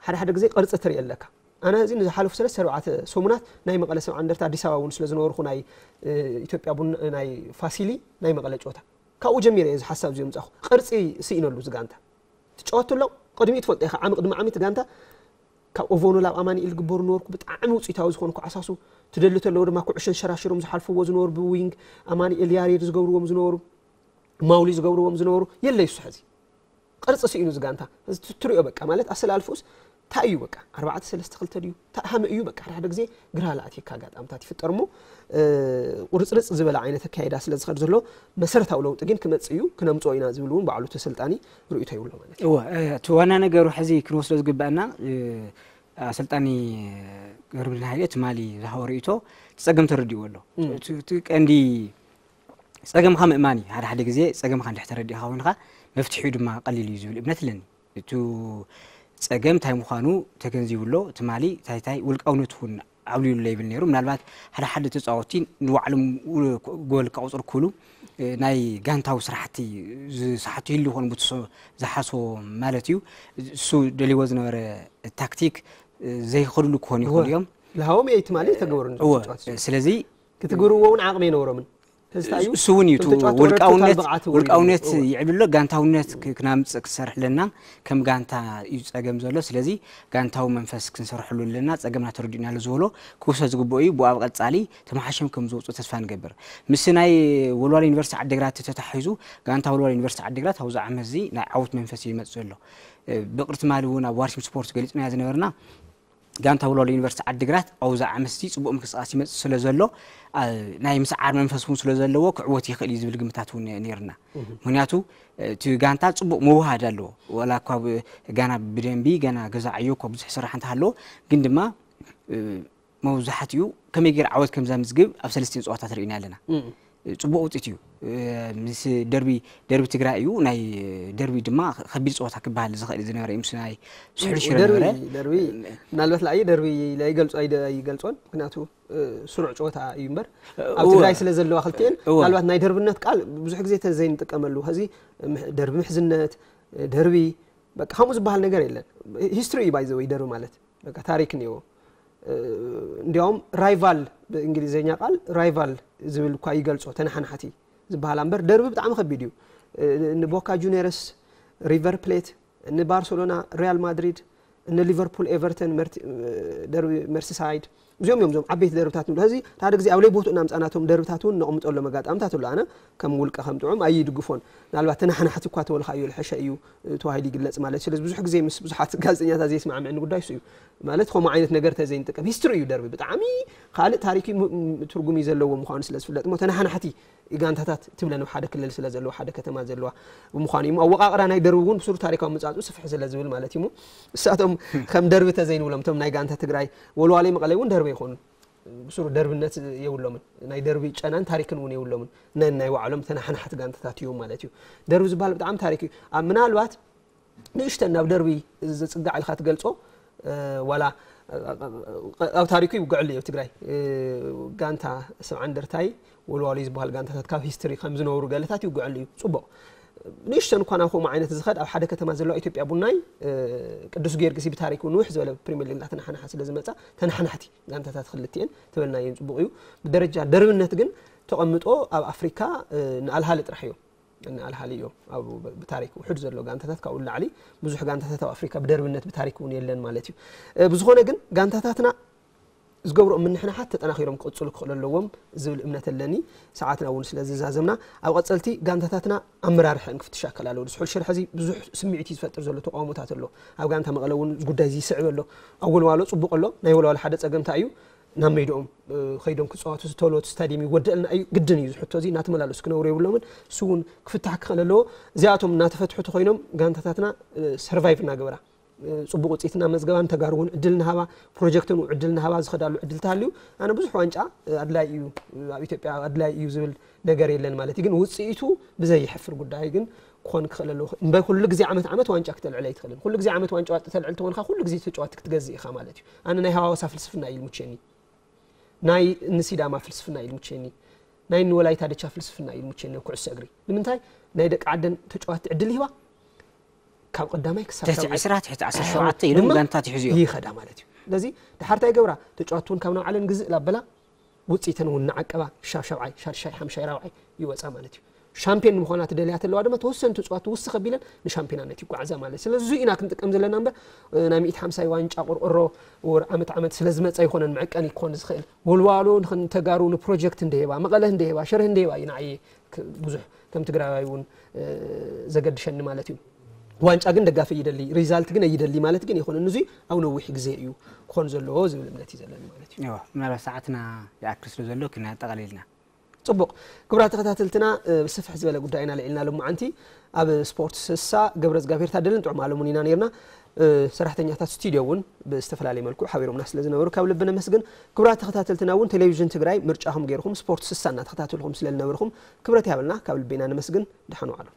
ሓደ ሓደ ግዜ ቅርፂ ትርኢ ኣለካ። ኣነ እዚ ንዝሓለፉ ሰለስተ ኣርባዕተ ሰሙናት ናይ መቐለ ሰብዓ እንደርታ ኣዲስ ኣበባ እውን ስለ ዝነበርኩ ናይ ኢትዮጵያ ቡና ናይ ፋሲሊ ናይ መቐለ ጨወታ ካብኡ ጀሚረ እየ እዚ ሓሳብ እዚ ምጻኹ። ቅርጺ ስኢነሉ እዚ ጋንታ ትጫወት ኣሎ። ቅድሚኡ ትፈልጦ ኢኻ ዓሚ ቅድሚ ዓሚ እቲ ጋንታ ካብ ኦቮኖ ላብ ኣማኒኤል ግበሩ ነበርኩ ብጣዕሚ ውፅኢታዊ ዝኾኑ ኩዓሳሱ ትደሊ ተለዉ ድማ ኩዕሾ ሸራሽሮም ዝሓልፍዎ ዝነበሩ ብዊንግ ኣማኒኤል ያሬድ ዝገብርዎም ዝነበሩ ማውሊ ዝገብርዎም ዝነበሩ የለይ እሱ ሕዚ ቅርጺ ስኢኑ እዚ ጋንታ እዚ ትሪኦ በቃ ማለት ኣሰላልፍኡስ እንታይ እዩ በቃ ኣርባዕተ ሰለስተ ክልተ ድዩ ተኣሃመ እዩ በቃ ሓደ ሓደ ግዜ ግራ ለኣትየካ ኣጋጣምታት ይፍጠር እሞ ቁርፅርፅ ዝበለ ዓይነት ኣካይዳ ስለ ዝኸድ ዘሎ መሰረታዊ ለውጢ ግን ክመፅእ እዩ ክነምፅኦ ኢና ዝብል እውን ባዕሉ ተሰልጣኒ ርእይቶ ይብሎ ማለት እዩ። እወ እቲ ዋና ነገሩ ሕዚ ክንወስዶ ዝግባአና ኣሰልጣኒ ገብረመድህን ሃይለ ትማሊ ዝሃቦ ርእይቶ እቲ ፀገም ተረዲእዎ ኣሎ። እቲ ቀንዲ ፀገምካ ምእማን እዩ። ሓደ ሓደ ግዜ ፀገምካ እንድሕር ተረዲእኻ ኮይንካ መፍትሒኡ ድማ ቀሊል እዩ ዝብል እምነት ኣለኒ። እቱ ፀገም እንታይ ምዃኑ ተገንዚቡ ኣሎ። ትማሊ እንታይ እንታይ ውልቃውነት እውን ዓብሊሉ ይብል ነይሩ። ምናልባት ሓደ ሓደ ተፃወቲ ንባዕሎም ጎል ከቑፅሩ ክሉ ናይ ጋንታዊ ስራሕቲ ዝሰሓቱ ይህሉ ይኾኑ ዝሓስቦ ማለት እዩ። እሱ ደልይዎ ዝነበረ ታክቲክ ዘይኸድሉ ክኾኑ ይኽእሉ እዮም። ዝሃቦም እየ ትማሊ ተገበሩ። ስለዚ ክትግርዎ እውን ዓቕሚ ኣይነበሮምን። እሱ እውን እዩ ውልቃውነት ውልቃውነት ይዕብሎ ጋንታውነት ክናምፅእ ክሰርሕ ኣለና። ከም ጋንታ እዩ ፀገም ዘሎ ስለዚ ጋንታዊ መንፈስ ክንሰርሐሉ ኣለና ፀገምና ተረዲእናሉ ዝበሎ ክውሰድ ዝግብኦ እዩ ብኣብ ቀፃሊ ተመሓሽም ከም ዝወፁ ተስፋ ንገብር። ምስ ናይ ወልዋሎ ዩኒቨርሲቲ ዓዲግራት ተታሒዙ ጋንታ ወልዋሎ ዩኒቨርሲቲ ዓዲግራት ኣብዚ ዓመት እዚ ናይ ዓወት መንፈስ እዩ ይመፅእ ዘሎ። ብቕርቲ ማሊ እውን ኣብ ዋርሲም ስፖርት ገሊፅናዮ ዝነበርና ጋንታ ወልዋሎ ዩኒቨርሲቲ ዓዲግራት ኣብዚ ዓመት እዚ ፅቡቕ ምንቅስቃስ ይመፅእ ስለ ዘሎ ናይ ምስዓር መንፈስ እውን ስለ ዘለዎ ክዕወት ይኽእል እዩ ዝብል ግምታት እውን ነይርና። ምክንያቱ እቲ ጋንታ ፅቡቕ መውሃድ ኣለዎ። ወላ እኳ ገና ብደንቢ ገና ገዛ ዕዮ እኳ ብዙሕ ስራሕ እንተሃለዎ ግን ድማ መብዛሕትኡ ከመይ ገይሩ ዓወት ከም ዘምዝግብ ኣብ ሰለስቲን ፀዋታት ርኢና ኣለና። ፅቡቕ ውፅኢት እዩ። ምስ ደርቢ ደርቢ ትግራይ እዩ ናይ ደርቢ ድማ ከቢድ ፀወታ ክበሃል ዝኽእል ዝነበረ እዩ ምስ ናይ ስሑል ሽረ ነበረ። ደርቢ ምናልባት ለኣየ ደርቢ ኣይገልጾ ኣይገልጾን ምክንያቱ ስሩዕ ጨወታ እዩ እምበር ኣብ ትግራይ ስለ ዘለዋ ክልቲኤን ምናልባት ናይ ደርብነት ቃል ብዙሕ ግዜ ተዘይንጥቀመሉ ከዚ ደርቢ ምሕዝነት ደርቢ በቃ ከምኡ ዝበሃል ነገር የለን። ሂስትሪ እዩ ባይዘወይ ደርቢ ማለት በቃ ታሪክ እኒዎ። እንዲያውም ራይቫል ብእንግሊዝኛ ቃል ራይቫል ዝብል እኳ ይገልጾ ተነሓናሕቲ ዝበሃል እምበር ደርቢ ብጣዕሚ ከቢድ እዩ። ንቦካ ጁኒየርስ ሪቨር ፕሌት ንባርሰሎና ሪያል ማድሪድ ንሊቨርፑል ኤቨርተን ደርቢ መርሲሳይድ እዚኦም እዮም ዞም ዓበይቲ ደርብታት ንብሎ ሕዚ ሓደ ግዜ ኣብ ለይ ቦትኡ እናምፃናቶም ደርብታት እውን ነቕምጠሎም ኣጋጣምታት ኣሎ ኣነ ከም ውልቀ ከም ጥዑም ኣይድግፎን ምናልባት ተናሓናሕቲ እኳ ተበልካዮ ልሐሸ እዩ ተባሂሉ ይግለፅ ማለት እዩ ስለዚ ብዙሕ ግዜ ምስ ብዙሓት ጋዜጠኛታት ዘይስማዕምዕኒ ጉዳይ እሱ እዩ ማለት ከምኡ ዓይነት ነገር ተዘይንጥቀም ሂስትሪ እዩ ደርቢ ብጣዕሚ ካልእ ታሪክ ትርጉም እዩ ዘለዎ ምዃኑ ስለ ዝፍለጥ እሞ ተናሓናሕቲ ጋንታታት ትብለን ኣብ ሓደ ክልል ስለ ዘለዋ ሓደ ከተማ ዘለዋ ብምዃኑ እዩ ኣወቃቕራ ናይ ደርቢ እውን ብሱሩ ታሪካዊ ምጻጹ ስፍሕ ስለ ዝብል ማለት እዩ እሳቶም ከም ደርቢ ተዘይንብሎም እቶም ናይ ጋንታ ትግራይ ወልዋለይ መቐለይ እውን ደርቢ ይኾኑ ብሱሩ ደርብነት የብሎምን ናይ ደርቢ ጨናን ታሪክን እውን የብሎምን ናይ ናይ ባዕሎም ተናሓናሕቲ ጋንታታት እዮም ማለት እዩ ደርቢ ዝበሃል ብጣዕሚ ታሪክ እዩ ምናልባት ንእሽተን ናብ ደርቢ ዝፅጋዕ ኢልካ ትገልፆ ዋላ ኣብ ታሪኩ ይውግዐሉ እዩ ትግራይ ጋንታ ሰብዓ እንደርታይ ወልዋሎ ዝበሃል ጋንታታት ካብ ሂስትሪ ከም ዝነበሩ ገለታት ይውግዐሉ እዩ ፅቡቕ ንእሽተን እኳ ናብ ከምኡ ዓይነት ዝኸድ ኣብ ሓደ ከተማ ዘለዋ ኢትዮጵያ ቡናይ ቅዱስ ጊዮርጊስ ብታሪክ ንውሕ ዝበለ ፕሪሚየር ሊግ እናተናሓናሓ ስለ ዝመፃ ተናሓናሕቲ ጋንታታት ክልቲኤን ተበልና እየን ፅቡቕ እዩ ብደረጃ ደርብነት ግን ተቐምጦ ኣብ ኣፍሪካ ንኣልሃሊ ጥራሕ እዮም። ንኣልሃሊ እዮም ኣብ ብታሪክ ውሕድ ዘሎ ጋንታታት። ካብኡ ንላዕሊ ብዙሕ ጋንታታት ኣብ ኣፍሪካ ብደርብነት ብታሪክ እውን የለን ማለት እዩ። ብዝኾነ ግን ጋንታታትና ዝገብሮ ምንሕንሓት ተጠናኺሮም ክቕፅሉ ክኽእሉ ኣለዎም ዝብል እምነት ኣለኒ። ሰዓትና እውን ስለ ዝዛዘምና ኣብ ቀፀልቲ ጋንታታትና ኣመራርሐን ክፍትሽ ኣከል ኣለዎ። ዝሑል ሽርሒ እዚ ብዙሕ ስምዒት እዩ ዝፈጥር ዘሎ፣ ተቃውሞታት ኣሎ። ኣብ ጋንታ መቐለ እውን ጉዳይ እዚ ይስዕብ ኣሎ። ኣብ ወልዋሎ ፅቡቕ ኣሎ። ናይ ወልዋሎ ሓደ ፀገምታ እዩ ናብ ሜድኦም ከይዶም ክፀዋቱ ዝተሎ እቲ ስታዲየም ይወደልና እዩ ግድን እዩ ዝሕቶ እዚ እናተመላለሱ ክነብሩ የብሎምን። እሱ እውን ክፍታሕ ክኽእል ኣለዎ። እዚኣቶም እናተፈትሑ ተኮይኖም ጋንታታትና ሰርቫይቭ እናገበራ ፅቡቅ ውፅኢት እናመዝገባን ተጋሩ እውን ዕድል እናሃባ ፕሮጀክትን ዕድል እናሃባ ዝኸዳሉ ዕድል ተሃልዩ ኣነ ብዙሕ ዋንጫ ኣድላይ እዩ ኣብ ኢትዮጵያ ኣድላይ እዩ ዝብል ነገር የለን ማለት እዩ። ግን ውፅኢቱ ብዘይሕፍር ጉዳይ ግን ክኾን ክኽእል ኣለዎ። እምበር ኩሉ ግዜ ዓመት ዓመት ዋንጫ ክተልዕል ኣይትኽእልን። ኩሉ ግዜ ዓመት ዋንጫ ዋንጫ ተልዕል ተኾንካ ኩሉ ግዜ ተጫዋቲ ክትገዝእ ኢኻ ማለት እዩ። ኣነ ናይ ሃዋሳ ፍልስፍና እዩ ልምቸኒ። ናይ ንሲዳማ ፍልስፍና እዩ ልምቸኒ። ናይ ንወላይታ ድቻ ፍልስፍና እዩ ልምቸኒ ኣብ ኩዕሶ እግሪ። ንምንታይ ናይ ደቂ ዓደን ተጫዋቲ ዕድል ይህባ ካብ ቀዳማይ ክሳብ ትሕቲ ሻብዓይ። ዕስራ ትሕቲ ዓሰርተ ሸውዓተ ኢሎም ድማ ጋንታት ይሕዙ እዮም። ይኸዳ ማለት እዩ። ስለዚ ድሓር እንታይ ይገብራ? ተጫዋቲ እውን ካብ ናብ ዓለም ግዝእ ላበላ ውፅኢተን እውን ንዓቀባ ሻብ ሻብዓይ ሻድሻይ ሓምሻይ ራብዓይ ይወፃ ማለት እዩ። ሻምፒዮን ንምዃና ትደልያ ተለዋ ድማ ተወሰኑ ተጫዋቲ ውስኽ ኣቢለን ንሻምፒዮናነት ይጓዓዛ ማለት እዩ። ስለዚ እዚ ኢና ክንጥቀም ዘለና እምበር ናይ ሚእቲ ሓምሳይ ዋንጫ ቆርቆሮ ወር ዓመት ዓመት ስለ ዝመፀ ይኮነን መዕቀኒ ክኾን ዝኽእል። ወልዋሎ ንተጋሩ ንፕሮጀክት እንደሄባ መቐለ እንደሄባ ሽረ እንደሄባ እዩ ንዓየ ብዙሕ ከም ትግራዋይ እውን ዘገድሸኒ ማለት እዩ። ዋንጫ ግን ደጋፊ ይደሊ ሪዛልት ግን ይደሊ ማለት ግን ይኮነ ንዙ ኣብ ነዊሕ ግዜ እዩ ክኾን ዘለዎ ዝብል እምነት እዩ ዘለኒ ማለት እዩ። እዎ፣ ምናልባት ሰዓትና ይኣክል ስለ ዘሎ ክነጠቓልልና። ፅቡቕ። ክቡራት ተኸታተልትና ብስፍሕ ዝበለ ጉዳይ ኢና ልዒልና ሎማዓንቲ ኣብ ስፖርት ስሳ ገብረ እግዚኣብሔር ታደልን ጥዑም ኣለሙን ኢና ነርና። ሰራሕተኛታት ስቱዲዮ እውን ብዝተፈላለየ መልክዑ ሓቢሮምና ስለ ዝነበሩ ካብ ልቢ ነመስግን። ክቡራት ተኸታተልትና እውን ቴሌቪዥን ትግራይ ምርጫኹም ገይርኩም ስፖርት ስሳ እናተኸታተልኩም ስለ ዝነበርኩም ክብረት ያበልና ካብ ልቢ ኢና ነመስግን። ደሓን ዋዕሉ።